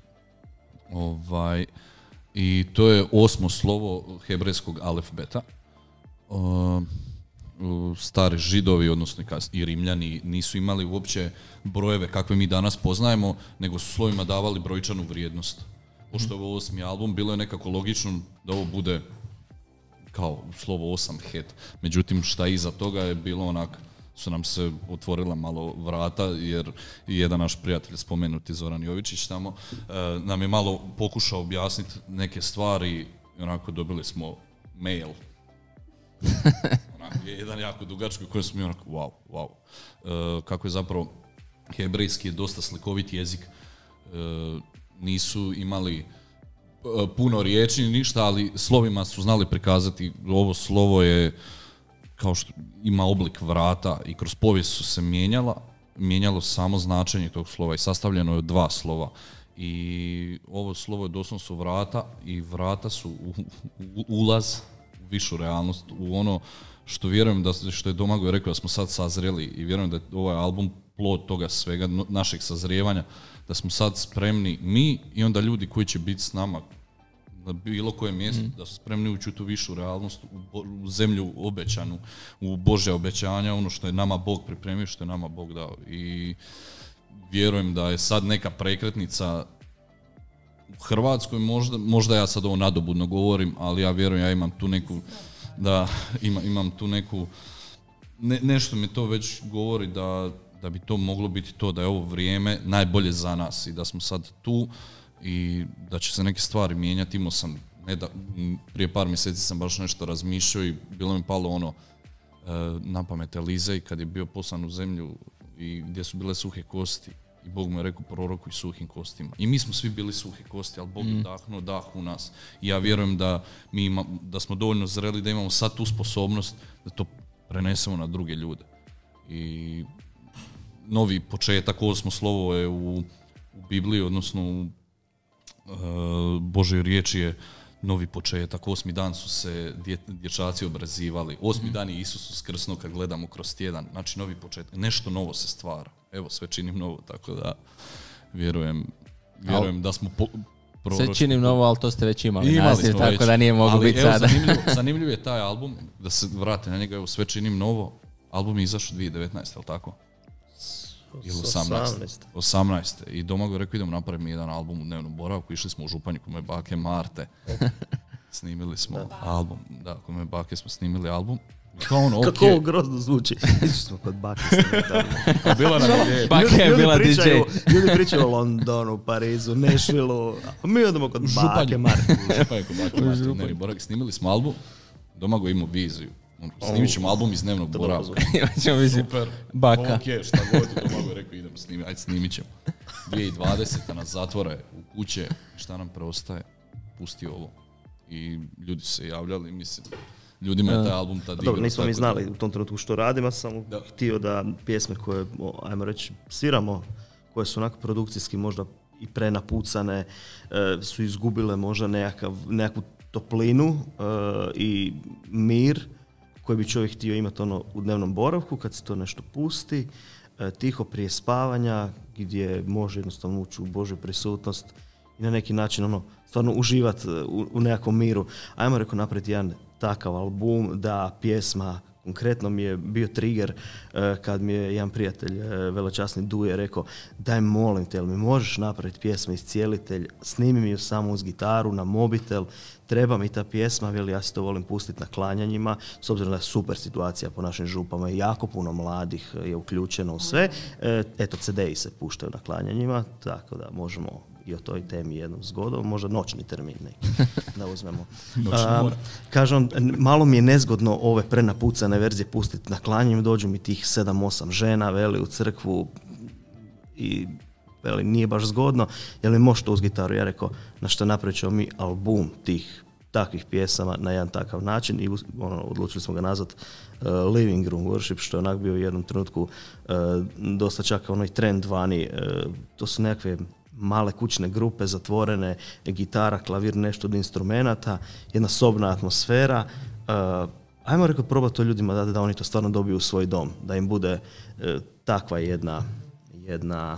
ovaj, i to je osmo slovo hebrejskog alefbeta. Uh, stari Židovi, odnosno i Rimljani, nisu imali uopće brojeve kakve mi danas poznajemo, nego su slovima davali brojčanu vrijednost. Pošto je ovo osmi album, bilo je nekako logično da ovo bude kao slovo osam het. Međutim, šta iza toga je bilo onak, su nam se otvorila malo vrata, jer jedan naš prijatelj, spomenuti Zoran Jovičić tamo, nam je malo pokušao objasniti neke stvari i onako dobili smo mail. Onako, jedan jako dugački koji smo mi onako, wow, wow. E, kako je zapravo hebrejski je dosta slikovit jezik. E, nisu imali e, puno riječi ni ništa, ali slovima su znali prikazati. Ovo slovo je kao što ima oblik vrata i kroz povijest su se mijenjala, mijenjalo samo značenje tog slova i sastavljeno je od dva slova. I ovo slovo je doslovno su vrata i vrata su u, u, ulaz u višu realnost, u ono što vjerujem da, što je Domagoj rekao da smo sad sazreli i vjerujem da je ovaj album plod toga svega, našeg sazrijevanja, da smo sad spremni mi i onda ljudi koji će biti s nama na bilo kojem mjestu, mm. da su spremni ući u tu višu realnost, u, u zemlju obećanu, u Božja obećanja, ono što je nama Bog pripremio, što je nama Bog dao. I vjerujem da je sad neka prekretnica u Hrvatskoj, možda, možda ja sad ovo nadobudno govorim, ali ja vjerujem, ja imam tu neku, da ima, imam tu neku, ne, nešto mi to već govori da, da bi to moglo biti to, da je ovo vrijeme najbolje za nas i da smo sad tu i da će se neke stvari mijenjati. Imao sam, ne da, prije par mjeseci sam baš nešto razmišljao i bilo mi palo ono na pamet Elizej kad je bio poslan u zemlju i gdje su bile suhe kosti i Bog mu je rekao prorokuj suhim kostima. I mi smo svi bili suhe kosti, ali Bog je mm. dahnuo dah u nas. I ja vjerujem da, mi ima, da smo dovoljno zreli da imamo sad tu sposobnost da to prenesemo na druge ljude. I novi početak, osmo slovo je u, u Bibliji, odnosno u uh, Božoj riječi je novi početak. Osmi dan su se dje, dječaci obrazivali. Osmi mm. dan je Isus uskrsnuo kad gledamo kroz tjedan. Znači novi početak. Nešto novo se stvara. Evo, sve činim novo, tako da vjerujem, vjerujem da smo po, proročni. Sve činim novo, ali to ste već imali, imali naziv, tako već, da nije moglo biti sada. Zanimljiv, zanimljiv je taj album, da se vrati na njega, evo, sve činim novo. Album je izašao dvije tisuće devetnaeste, ali tako? Ili osamnaeste. osamnaeste. I Domagoj rekao idemo napraviti jedan album u dnevnom boravku. Išli smo u Županju kod moje bake Marte. Snimili smo da. album. Da, kod moje bake smo snimili album. Kao ono, okay. Kako ovo grozno zvuči. Išli smo kod bake snimili. Bila nam je. Baka je bila pričaju, D J. Ljudi pričaju o Londonu, Parizu, Nashvilleu. Mi odemo kod bake Marte. Županju kod bake Marte. Dnevni boravak. Snimili smo album. Domagoj imao viziju. Snimit ćemo album iz dnevnog boravka. Super. Baka. Ok, šta god je Domagoj rekao, idemo snimiti. Ajde, snimit ćemo. dvije tisuće dvadesete nas zatvore u kuće. Šta nam preostaje? Pusti ovo. I ljudi su se javljali, mislim, ljudima je taj album tad igrao. Dobro, nismo mi znali u tom trenutku što radimo, sam da. htio da pjesme koje, ajmo reći, sviramo, koje su onako produkcijski možda i prenapucane, su izgubile možda nekakav, nekakvu toplinu i mir koji bi čovjek htio imati ono u dnevnom boravku kad se to nešto pusti, tiho prije spavanja, gdje može jednostavno ući u Božju prisutnost i na neki način ono stvarno uživati u, u nekakvom miru. Ajmo reko napraviti jedan takav album da pjesma, konkretno mi je bio trigger kad mi je jedan prijatelj, velečasni Duje, rekao daj molim te, jel mi možeš napraviti pjesmu Iscijelitelj, snimi mi ju samo uz gitaru, na mobitel, treba mi ta pjesma, veli, ja se to volim pustiti na klanjanjima, s obzirom da je super situacija po našim župama i jako puno mladih je uključeno u sve. Eto, ce de i se puštaju na klanjanjima, tako da možemo i o toj temi jednom zgodom, možda noćni termin neki, da uzmemo. Um, kažem, malo mi je nezgodno ove prenapucane verzije pustiti na klanjanjima, dođu mi tih sedam osam žena, veli, u crkvu i veli, nije baš zgodno, jel mi možeš to uz gitaru? Ja rekao, na što napravit ćemo mi album tih takvih pjesama na jedan takav način i ono, odlučili smo ga nazvat uh, Living Room Worship, što je onak bio u jednom trenutku uh, dosta čak onaj trend vani. Uh, to su nekakve male kućne grupe, zatvorene, gitara, klavir, nešto od instrumenata, jedna sobna atmosfera, uh, ajmo rekao probati to ljudima da, da oni to stvarno dobiju u svoj dom, da im bude e, takva jedna, jedna,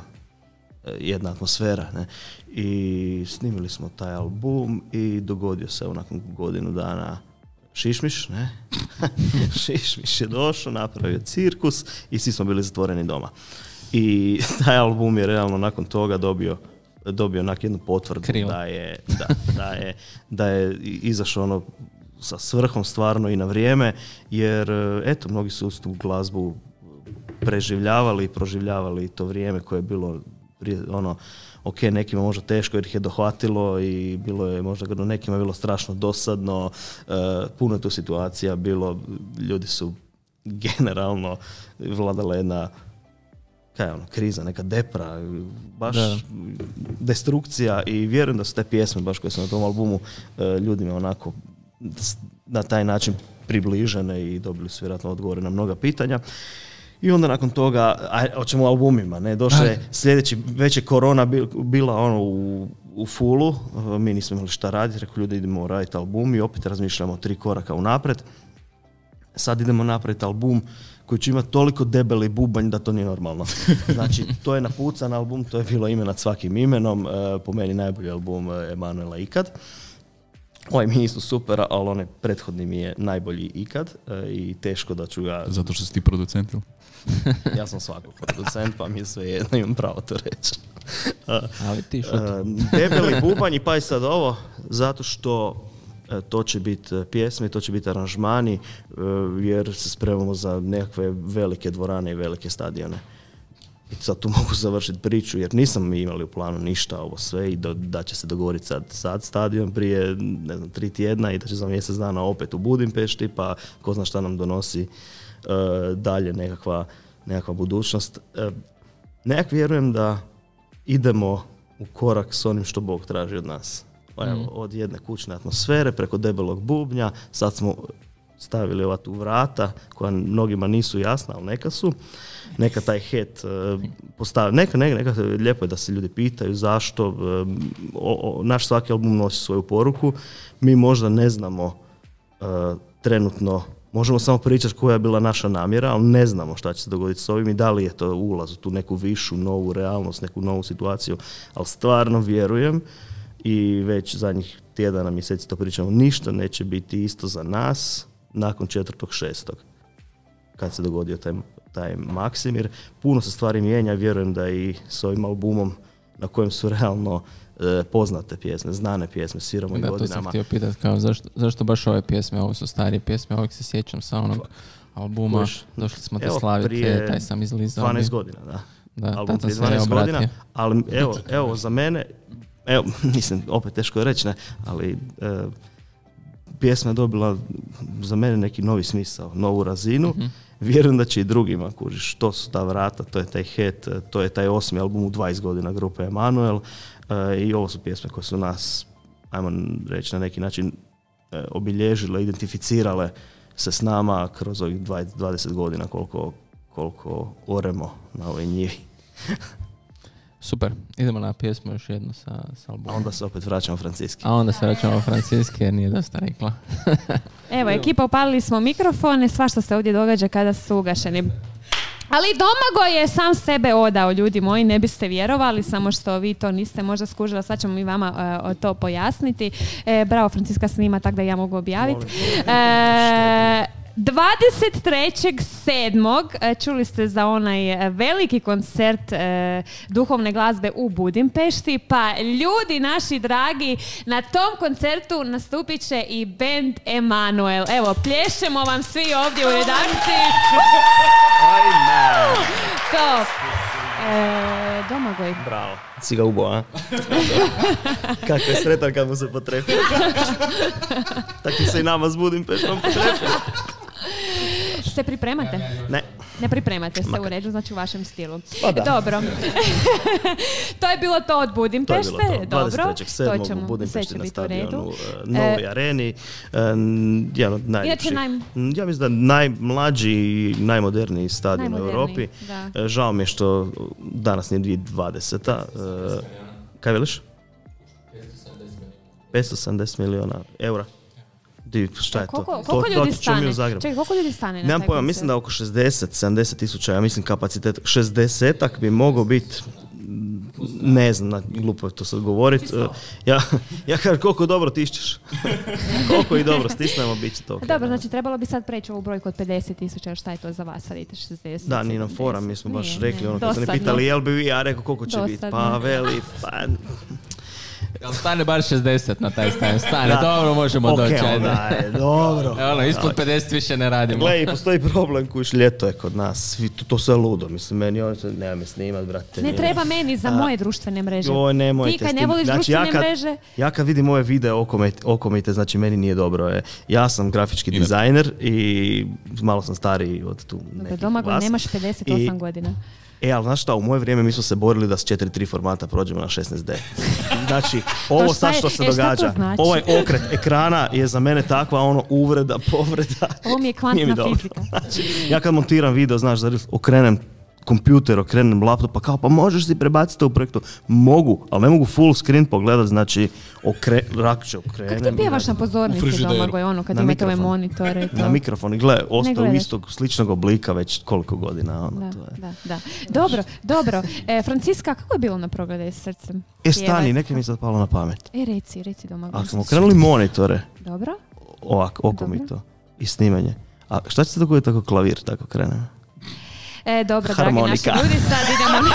e, jedna atmosfera. Ne? I snimili smo taj album i dogodio se nakon godinu dana šišmiš, ne? Šišmiš je došao, napravio cirkus i svi smo bili zatvoreni doma. I taj album je realno nakon toga dobio dobio onak jednu potvrdu da je, da, da, je, da je izašao ono sa svrhom stvarno i na vrijeme, jer eto, mnogi su tu glazbu preživljavali i proživljavali to vrijeme koje je bilo prije, ono, ok, nekima možda teško jer ih je dohvatilo i bilo je možda nekima bilo strašno dosadno, uh, puno je tu situacija bilo, ljudi su generalno vladala jedna kaj je ono, kriza, neka depra, baš da. destrukcija i vjerujem da su te pjesme baš koje su na tom albumu uh, ljudima onako na taj način približene i dobili su vjerojatno odgovore na mnoga pitanja. I onda nakon toga, a hoćemo o albumima, ne, došle je sljedeći, već je korona bila ono u, u fullu, mi nismo imali šta raditi, rekao ljudi idemo raditi album i opet razmišljamo tri koraka unaprijed. Sad idemo napraviti album koji će imati toliko debeli bubanj da to nije normalno. Znači, to je napucan album, to je bilo ime nad svakim imenom, po meni najbolji album Emanuela ikad. Ovaj mi je isto super, ali onaj prethodni mi je najbolji ikad i teško da ću ga... Zato što si ti producent, ili? Ja sam svakog producent, pa mi je sve jedno, imam pravo to reći. Ali ti što? Debeli bubanj i pa i sad ovo, zato što to će biti pjesme, to će biti aranžmani, jer se spremamo za nekakve velike dvorane i velike stadione. I sad tu mogu završiti priču, jer nisam imali u planu ništa ovo sve i do, da će se dogovoriti sad, sad stadion prije, ne znam, tri tjedna i da će za mjesec dana opet u Budimpešti, pa ko zna šta nam donosi uh, dalje nekakva, nekakva budućnost. Uh, nekak vjerujem da idemo u korak s onim što Bog traži od nas. Pa evo, od jedne kućne atmosfere preko debelog bubnja, sad smo stavili ova tu vrata koja mnogima nisu jasna, ali neka su. Neka taj het uh, postavi, neka, neka, neka, lijepo je da se ljudi pitaju zašto, uh, o, o, naš svaki album nosi svoju poruku, mi možda ne znamo uh, trenutno, možemo samo pričati koja je bila naša namjera, ali ne znamo šta će se dogoditi s ovim i da li je to ulaz u tu neku višu, novu realnost, neku novu situaciju, ali stvarno vjerujem i već zadnjih tjedana, mjeseci to pričamo, ništa neće biti isto za nas nakon četvrtog šestog kad se dogodio taj taj Maksimir. Puno se stvari mijenja, vjerujem da i s ovim albumom na kojem su realno e, poznate pjesme, znane pjesme, sviramo i godinama. Da, to sam htio pitati, kao zašto, zašto baš ove pjesme, ovo su starije pjesme, ovog se sjećam sa onog albuma, Koš, došli smo te slaviti, taj sam izlizao. dvanaest godina, da. Da, album prije dvanaest godina, ali evo, evo za mene, evo, mislim, opet teško je reći, ne, ali e, pjesma je dobila za mene neki novi smisao, novu razinu. Mm-hmm. Vjerujem da će i drugima, kužiš, to su ta vrata, to je taj het, to je taj osmi album u dvadeset godina grupe Emanuel e, i ovo su pjesme koje su nas, ajmo reći na neki način, e, obilježile, identificirale se s nama kroz ovih dvadeset godina koliko, koliko oremo na ovoj njivi. Super, idemo na pjesmu još jednu sa, sa albumom. A onda se opet vraćamo francuski. A onda se vraćamo francuski jer nije dosta rekla. Evo, ekipa, upalili smo mikrofone, svašta se ovdje događa kada su ugašeni. Ali Domagoj je sam sebe odao, ljudi moji, ne biste vjerovali, samo što vi to niste možda skužili, sad ćemo mi vama uh, to pojasniti. E, bravo, Franciska snima, tako da ja mogu objaviti. E, dvadeset trećeg sedmog čuli ste za onaj veliki koncert e, duhovne glazbe u Budimpešti, pa ljudi naši dragi, na tom koncertu nastupit će i band Emanuel. Evo, plješćemo vam svi ovdje u redakciji. Top. E, Domagoj. Bravo. Si ga ubo, a? Kako je sretan kad mu se potrefi. Tako se i nama s Budimpeštom potrefi. Se pripremate? Ne. Ne pripremate se u redu, znači u vašem stilu. Pa da. Dobro. To je bilo to od Budimpešte. To je bilo to. Dobro. dvadeset trećeg sedmog u Budimpešti na stadionu uh, Novoj e, areni. Uh, jedan od najljepših. Naj... Ja mislim da najmlađi i najmoderniji stadion u Europi. Da. Žao mi je što danas nije dvije tisuće dvadeseta. Uh, kaj veliš? petsto sedamdeset milijuna eura. Ti, šta je koliko, to? Koliko to, ljudi to stane? Čekaj, koliko ljudi stane na Nemam taj pojma, koncert? mislim da oko šezdeset sedamdeset tisuća, ja mislim kapacitet. šezdesetak bi mogao biti, ne znam, glupo je to sad govoriti. Ja, ja kažem koliko dobro tišćeš. Koliko i dobro stisnemo, bit će to. Okay. Dobro, znači trebalo bi sad preći ovu brojku od pedeset tisuća, šta je to za vas, sad idete šezdeset? Da, nije nam fora, mi smo baš nije, rekli, nije. ono kad su ne pitali jel bi vi, ja rekao koliko će biti, pa veli, pa... Jel stane bar šezdeset na taj stan? Stane, da. Dobro, možemo okay, doći. Okej, je, dobro. E, ono, ispod pedeset više ne radimo. Gle, postoji problem kuš, ljeto je kod nas, svi, to, to sve ludo, mislim, meni on se, nema me snimat, brate. Ne nije. Treba meni za moje društvene mreže. Joj, nemojte. Ti kad ne voliš znači, društvene ja kad, mreže... Ja kad vidim ove videe okomite, okomite, znači meni nije dobro. Je. Ja sam grafički Ine. dizajner i malo sam stariji od tu nekih vas. Domagoj, nemaš pedeset osam I, godina. E, ali znaš šta, u moje vrijeme mi smo se borili da s četiri tri formata prođemo na šesnaest de. Znači, ovo sad što se e, događa, znači? ovaj okret ekrana je za mene takva ono uvreda, povreda. Ovo mi je kvantna fizika. Znači, ja kad montiram video, znaš, okrenem kompjuter, okrenem laptop, pa kao, pa možeš si prebaciti to u projektu. Mogu, ali ne mogu full screen pogledat, znači, okre, rakće okrenem. Kako ti pjevaš na pozornici, Domagoj, ono, kad imate ove monitore? To. Na mikrofon i gle, ostao istog sličnog oblika već koliko godina. Ono, da, to je. da, da. Dobro, dobro. E, Franciska, kako je bilo na Progledaj srcem? E, stani, neke mi je sad palo na pamet. E, reci, reci Domagoj. Ako smo okrenuli monitore, dobro. Ovako, oko mi to, i snimanje. A šta će se dogoditi ako klavir tako krene? E, dobro, harmonika. Dragi naši ljudi, sad idemo,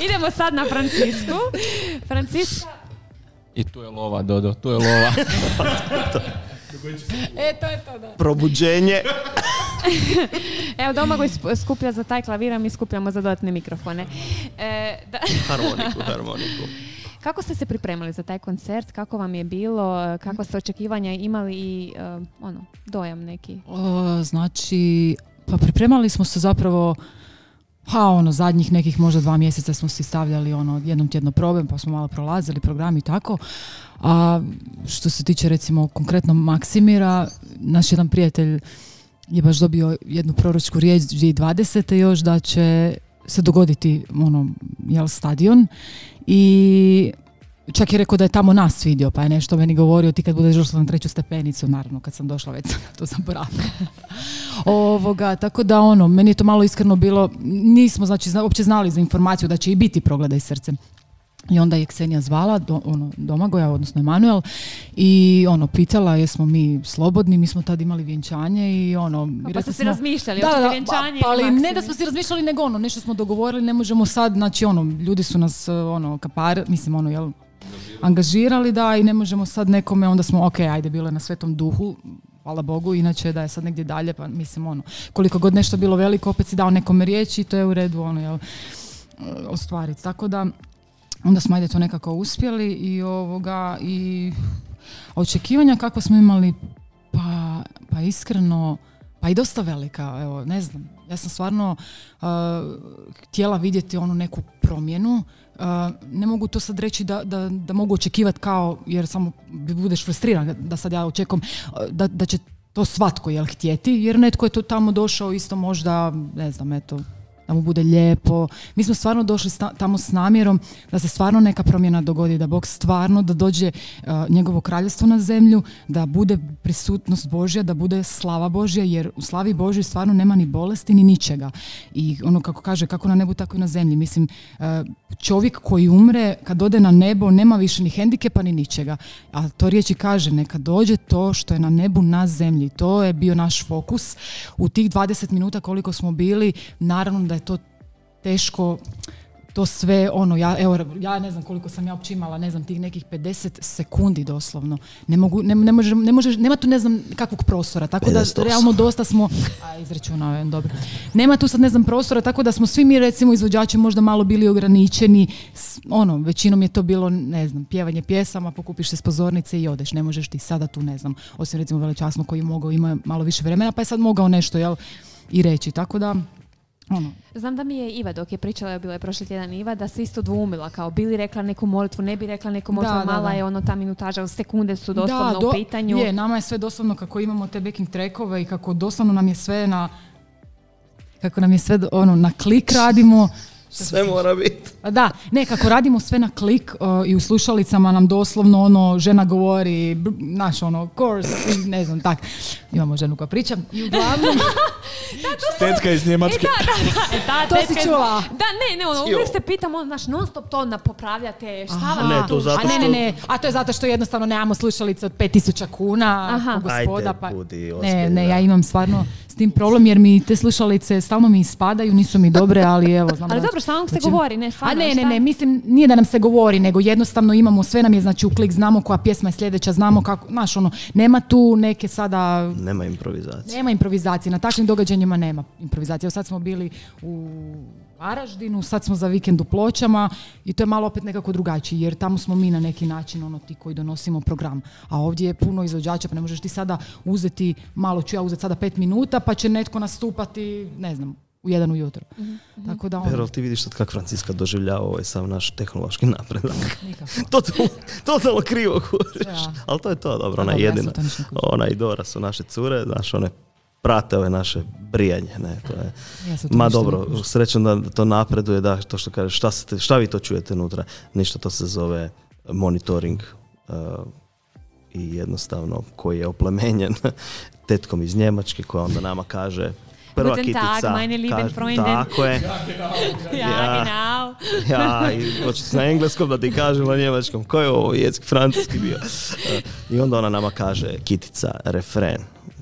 idemo sad na Francisku. Franciska. I tu je lova, Dodo, tu je lova. E, to je to, da. Probuđenje. Evo, Domagoj skuplja za taj klavir, a mi skupljamo za dodatne mikrofone. E, da. Harmoniku, harmoniku. Kako ste se pripremali za taj koncert? Kako vam je bilo? Kakva ste očekivanja imali i uh, ono, dojam neki? O, znači... Pa pripremali smo se zapravo, pa ono, zadnjih nekih možda dva mjeseca smo si stavljali ono, jednom tjedno probe, pa smo malo prolazili program i tako. A što se tiče recimo konkretno Maksimira, naš jedan prijatelj je baš dobio jednu proročku riječ dvije tisuće dvadesete još da će se dogoditi ono, jel, stadion i čak je rekao da je tamo nas vidio, pa je nešto meni govorio, ti kad budeš došla na treću stepenicu, naravno kad sam došla već sam to zaboravila. Ovoga, tako da ono, meni je to malo iskreno bilo, nismo znači zna, uopće znali za informaciju da će i biti Progledaj srcem. I onda je Ksenija zvala, do, ono, Domagoja, odnosno Emanuel, i ono, pitala jesmo mi slobodni, mi smo tad imali vjenčanje i ono... Pa, pa ste se razmišljali, da, da, vjenčanje pa, ali ne da smo se razmišljali, nego ono, nešto smo dogovorili, ne možemo sad, znači ono, ljudi su nas, ono, kapar, mislim, ono, jel, angažirali, da, i ne možemo sad nekome, onda smo, ok, ajde, bilo je na Svetom duhu, hvala Bogu, inače da je sad negdje dalje, pa mislim, ono, koliko god nešto bilo veliko, opet si dao nekome riječi i to je u redu, ono, jel, ostvariti. Tako da, onda smo ajde to nekako uspjeli i ovoga, i očekivanja kako smo imali, pa, pa iskreno, pa i dosta velika, evo, ne znam, ja sam stvarno uh, htjela vidjeti onu neku promjenu. Uh, ne mogu to sad reći da, da, da mogu očekivati kao, jer samo budeš frustriran da sad ja očekujem uh, da, da će to svatko jel htjeti, jer netko je to tamo došao isto možda, ne znam, eto, da mu bude lijepo. Mi smo stvarno došli sta, tamo s namjerom da se stvarno neka promjena dogodi, da Bog stvarno, da dođe uh, njegovo kraljevstvo na zemlju, da bude prisutnost Božja, da bude slava Božja, jer u slavi Božjoj stvarno nema ni bolesti ni ničega. I ono kako kaže, kako na nebu, tako i na zemlji. Mislim, uh, čovjek koji umre, kad ode na nebo, nema više ni hendikepa ni ničega. A to riječi kaže, neka dođe to što je na nebu na zemlji. To je bio naš fokus. U tih dvadeset minuta koliko smo bili, naravno da je to teško, to sve, ono, ja, evo, ja ne znam koliko sam ja uopće imala, ne znam, tih nekih pedeset sekundi doslovno. Ne mogu, ne, ne možeš, ne možeš, nema tu ne znam kakvog prostora, tako da realno dosta smo, a izračunao je, dobro. Nema tu sad ne znam prostora, tako da smo svi mi recimo izvođači možda malo bili ograničeni, ono, većinom je to bilo, ne znam, pjevanje pjesama, pokupiš se s pozornice i odeš, ne možeš ti sada tu, ne znam, osim recimo Veličasno koji je mogao, ima malo više vremena, pa je sad mogao nešto, jel, i reći, tako da, ono. Znam da mi je Iva, dok je pričala, bila je prošli tjedan Iva, da se isto dvumila, kao bi li rekla neku molitvu, ne bi rekla neku molitvu, mala da, da. je ono ta minutaža, sekunde su doslovno da, do, u pitanju. Je, nama je sve doslovno kako imamo te backing trackove i kako doslovno nam je sve na, kako nam je sve ono, na klik radimo. Sve mora biti. Da, nekako radimo sve na klik uh, i u slušalicama nam doslovno ono, žena govori, b- naš ono, course, ne znam, tak. Imamo ženu koja priča i uglavnom... Tetka iz Njemačke. E, da, da, da, To tetka si iz- čula? Da, ne, ne, ono, uvijek se pitam, ono, znaš, non stop to na popravljate, šta vam Ne, je to tu? zato A ne, što- ne, ne, a to je zato što jednostavno nemamo slušalice od pet tisuća kuna, Aha. ko gospoda, Ajde, pa... budi Ne, ozbiljna. ne, ja imam stvarno s tim problem jer mi te slušalice stalno mi ispadaju, nisu mi dobre, ali evo, znam Ali da- dobro, stalno se da će- govori, ne, A stvarno, ne, ne, šta? ne, mislim, nije da nam se govori, nego jednostavno imamo, sve nam je znači u klik, znamo koja pjesma je sljedeća, znamo kako, znaš, ono, nema tu neke sada... Nema improvizacije. Nema improvizacije, na takvim događanjima nema improvizacije. Evo sad smo bili u Varaždinu, sad smo za vikend u Pločama i to je malo opet nekako drugačije, jer tamo smo mi na neki način ono ti koji donosimo program. A ovdje je puno izvođača, pa ne možeš ti sada uzeti, malo ću ja uzeti sada pet minuta, pa će netko nastupati, ne znam, u jedan ujutro. Tako da ono, Pero, ti vidiš sad kako Franciska doživljava ovaj sav naš tehnološki napredak. nikako. Totalno, totalno krivo kužiš. Ja. Ali to je to, dobro, A ona je dobro, ja sam jedina. to ništa ne kužim. Ona i Dora su naše cure, znaš, one prate ove naše brijanje, ne, to je... Ja sam to Ma ništa ne dobro, kužim. srećom da to napreduje, da, to što kažeš, šta, se te- šta vi to čujete unutra? Ništa, to se zove monitoring uh, i jednostavno koji je oplemenjen tetkom iz Njemačke koja onda nama kaže prva Guten Tag, kitica, meine lieben kaže- Freunde. tako je, Ja, Ja. genau. ja, i hoćete na engleskom da ti kažem na njemačkom, koji je ovo jezik, francuski bio. Uh, I onda ona nama kaže kitica, refren,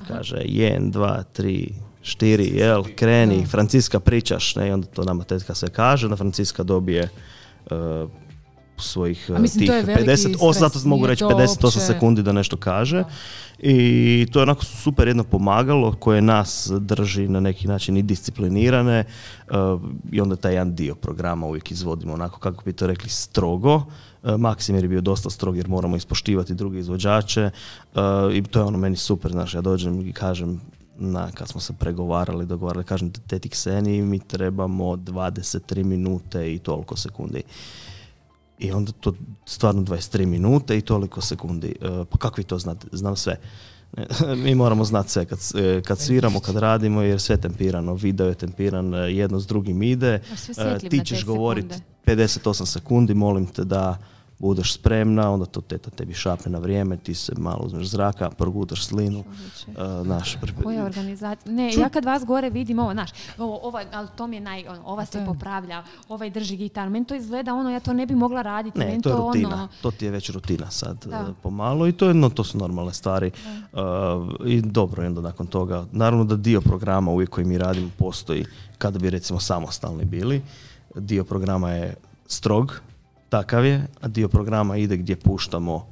kaže jedan, dva, tri, štiri, jel, kreni, Franciska pričaš, ne, i onda to nama tetka sve kaže, da Franciska dobije uh, svojih A mislim, tih to je veliki pedeset osam, stres, zato mogu nije reći to pedeset osam uopće- sekundi da nešto kaže. I to je onako super jedno pomagalo koje nas drži na neki način i disciplinirane uh, i onda taj jedan dio programa uvijek izvodimo onako kako bi to rekli strogo. Uh, Maksimir je bio dosta strog jer moramo ispoštivati druge izvođače uh, i to je ono meni super, znaš, ja dođem i kažem na, kad smo se pregovarali, dogovarali, kažem teti Kseni, mi trebamo dvadeset tri minute i toliko sekundi. I onda to stvarno dvadeset tri minute i toliko sekundi. E, pa kako vi to znate? Znam sve. Mi moramo znati sve kad, e, kad sviramo, kad radimo, jer sve je tempirano. Video je tempiran, e, jedno s drugim ide. Baš sve E, sjetljiv Ti na te ćeš govoriti sekunde. pedeset osam sekundi, molim te da budeš spremna, onda to teta tebi šapne na vrijeme, ti se malo uzmeš zraka, progutaš slinu. E, naš, Koja organizacija? Ne, ja kad vas gore vidim ovo, znaš, ovo, ovo, ali to mi je naj, ono, ova se popravlja, ovaj drži gitaru. Meni to izgleda ono, ja to ne bi mogla raditi. Ne, Meni to je to rutina. ono, To ti je već rutina sad Da. e, pomalo i to, je, no, to su normalne stvari. Uh, I dobro, i onda nakon toga, naravno da dio programa uvijek koji mi radimo postoji kada bi recimo samostalni bili. Dio programa je strog, takav je, a dio programa ide gdje puštamo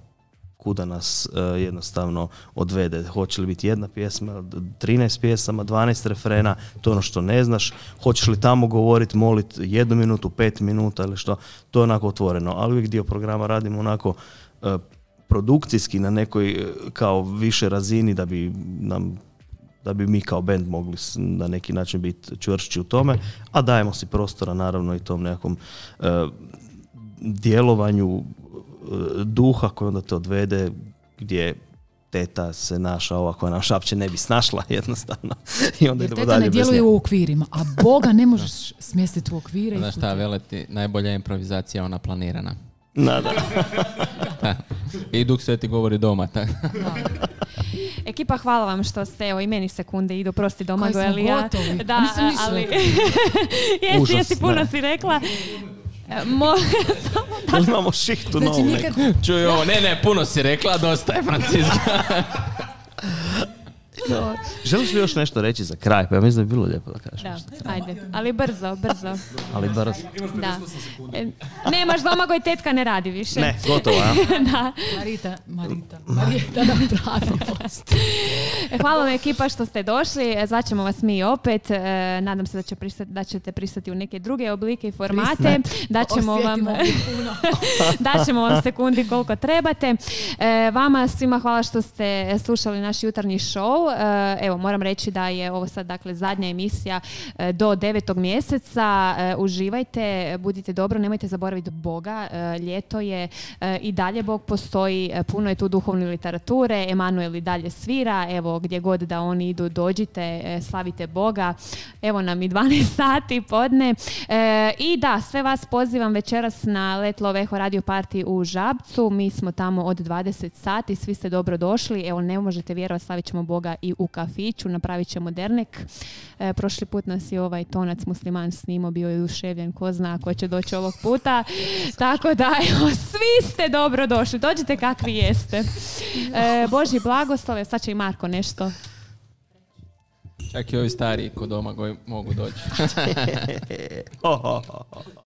kuda nas e, jednostavno odvede. Hoće li biti jedna pjesma, trinaest pjesama, dvanaest refrena, to je ono što ne znaš. Hoćeš li tamo govoriti, moliti jednu minutu, pet minuta ili što, to je onako otvoreno. Ali uvijek dio programa radimo onako e, produkcijski na nekoj e, kao više razini da bi nam da bi mi kao band mogli s- na neki način biti čvršći u tome, a dajemo si prostora naravno i tom nekakvom e, djelovanju e, duha koji onda te odvede gdje teta se naša, ova koja nam šapće ne bi snašla jednostavno. I onda Jer idemo teta dalje ne bez djeluje nje. u okvirima, a Boga ne možeš smjestiti u okvire. i Znaš šta, veleti, najbolja improvizacija je ona planirana. Da, da. Da. I Duh Sveti govori doma. tako. Ekipa, hvala vam što ste, evo i meni sekunde idu, prosti Domago, Koji smo ali ja... gotovi. Da, A nisam ništa ali... rekla. jesi, Užas, jesi, puno ne. si rekla. E, Mo... Jel imamo šihtu Znači novu nikad, neku? Čuj ovo, ne, ne, puno si rekla, dosta je Franciska. Želiš li još nešto reći za kraj? Pa ja mislim da bi bilo lijepo da kažeš. Da, ajde, ali brzo, brzo. Ali brzo. Da. E, nemaš Domago i tetka ne radi više. Ne, gotovo, a? Da. Marita, Marita, Marita nam pravi post. E, Hvala vam ekipa što ste došli, E, zvaćemo vas mi opet, E, nadam se da, će pristati, da ćete pristati u neke druge oblike i formate, daćemo vam, Osjetimo ih puno. daćemo vam sekundi koliko trebate. E, vama svima hvala što ste slušali naš jutarnji show, evo, moram reći da je ovo sad dakle zadnja emisija do devetog mjeseca. Uživajte, budite dobro, nemojte zaboraviti Boga. Ljeto je i dalje Bog postoji, puno je tu duhovne literature, Emanuel i dalje svira, evo gdje god da oni idu, dođite, slavite Boga. Evo nam i dvanaest sati podne. I da, sve vas pozivam večeras na Let Love Eho Radio Party u Žabcu. Mi smo tamo od dvadeset sati, svi ste dobro došli. Evo, ne možete vjerovati, slavit ćemo Boga i u kafiću, napravit ćemo dernek. E, prošli put nas je ovaj tonac musliman snimao, bio je oduševljen, ko zna ko će doći ovog puta. Tako da, evo, svi ste dobro došli, dođite kakvi jeste. E, Božji blagoslove, sad će i Marko nešto. Čak i ovi stariji kod doma koji mogu doći.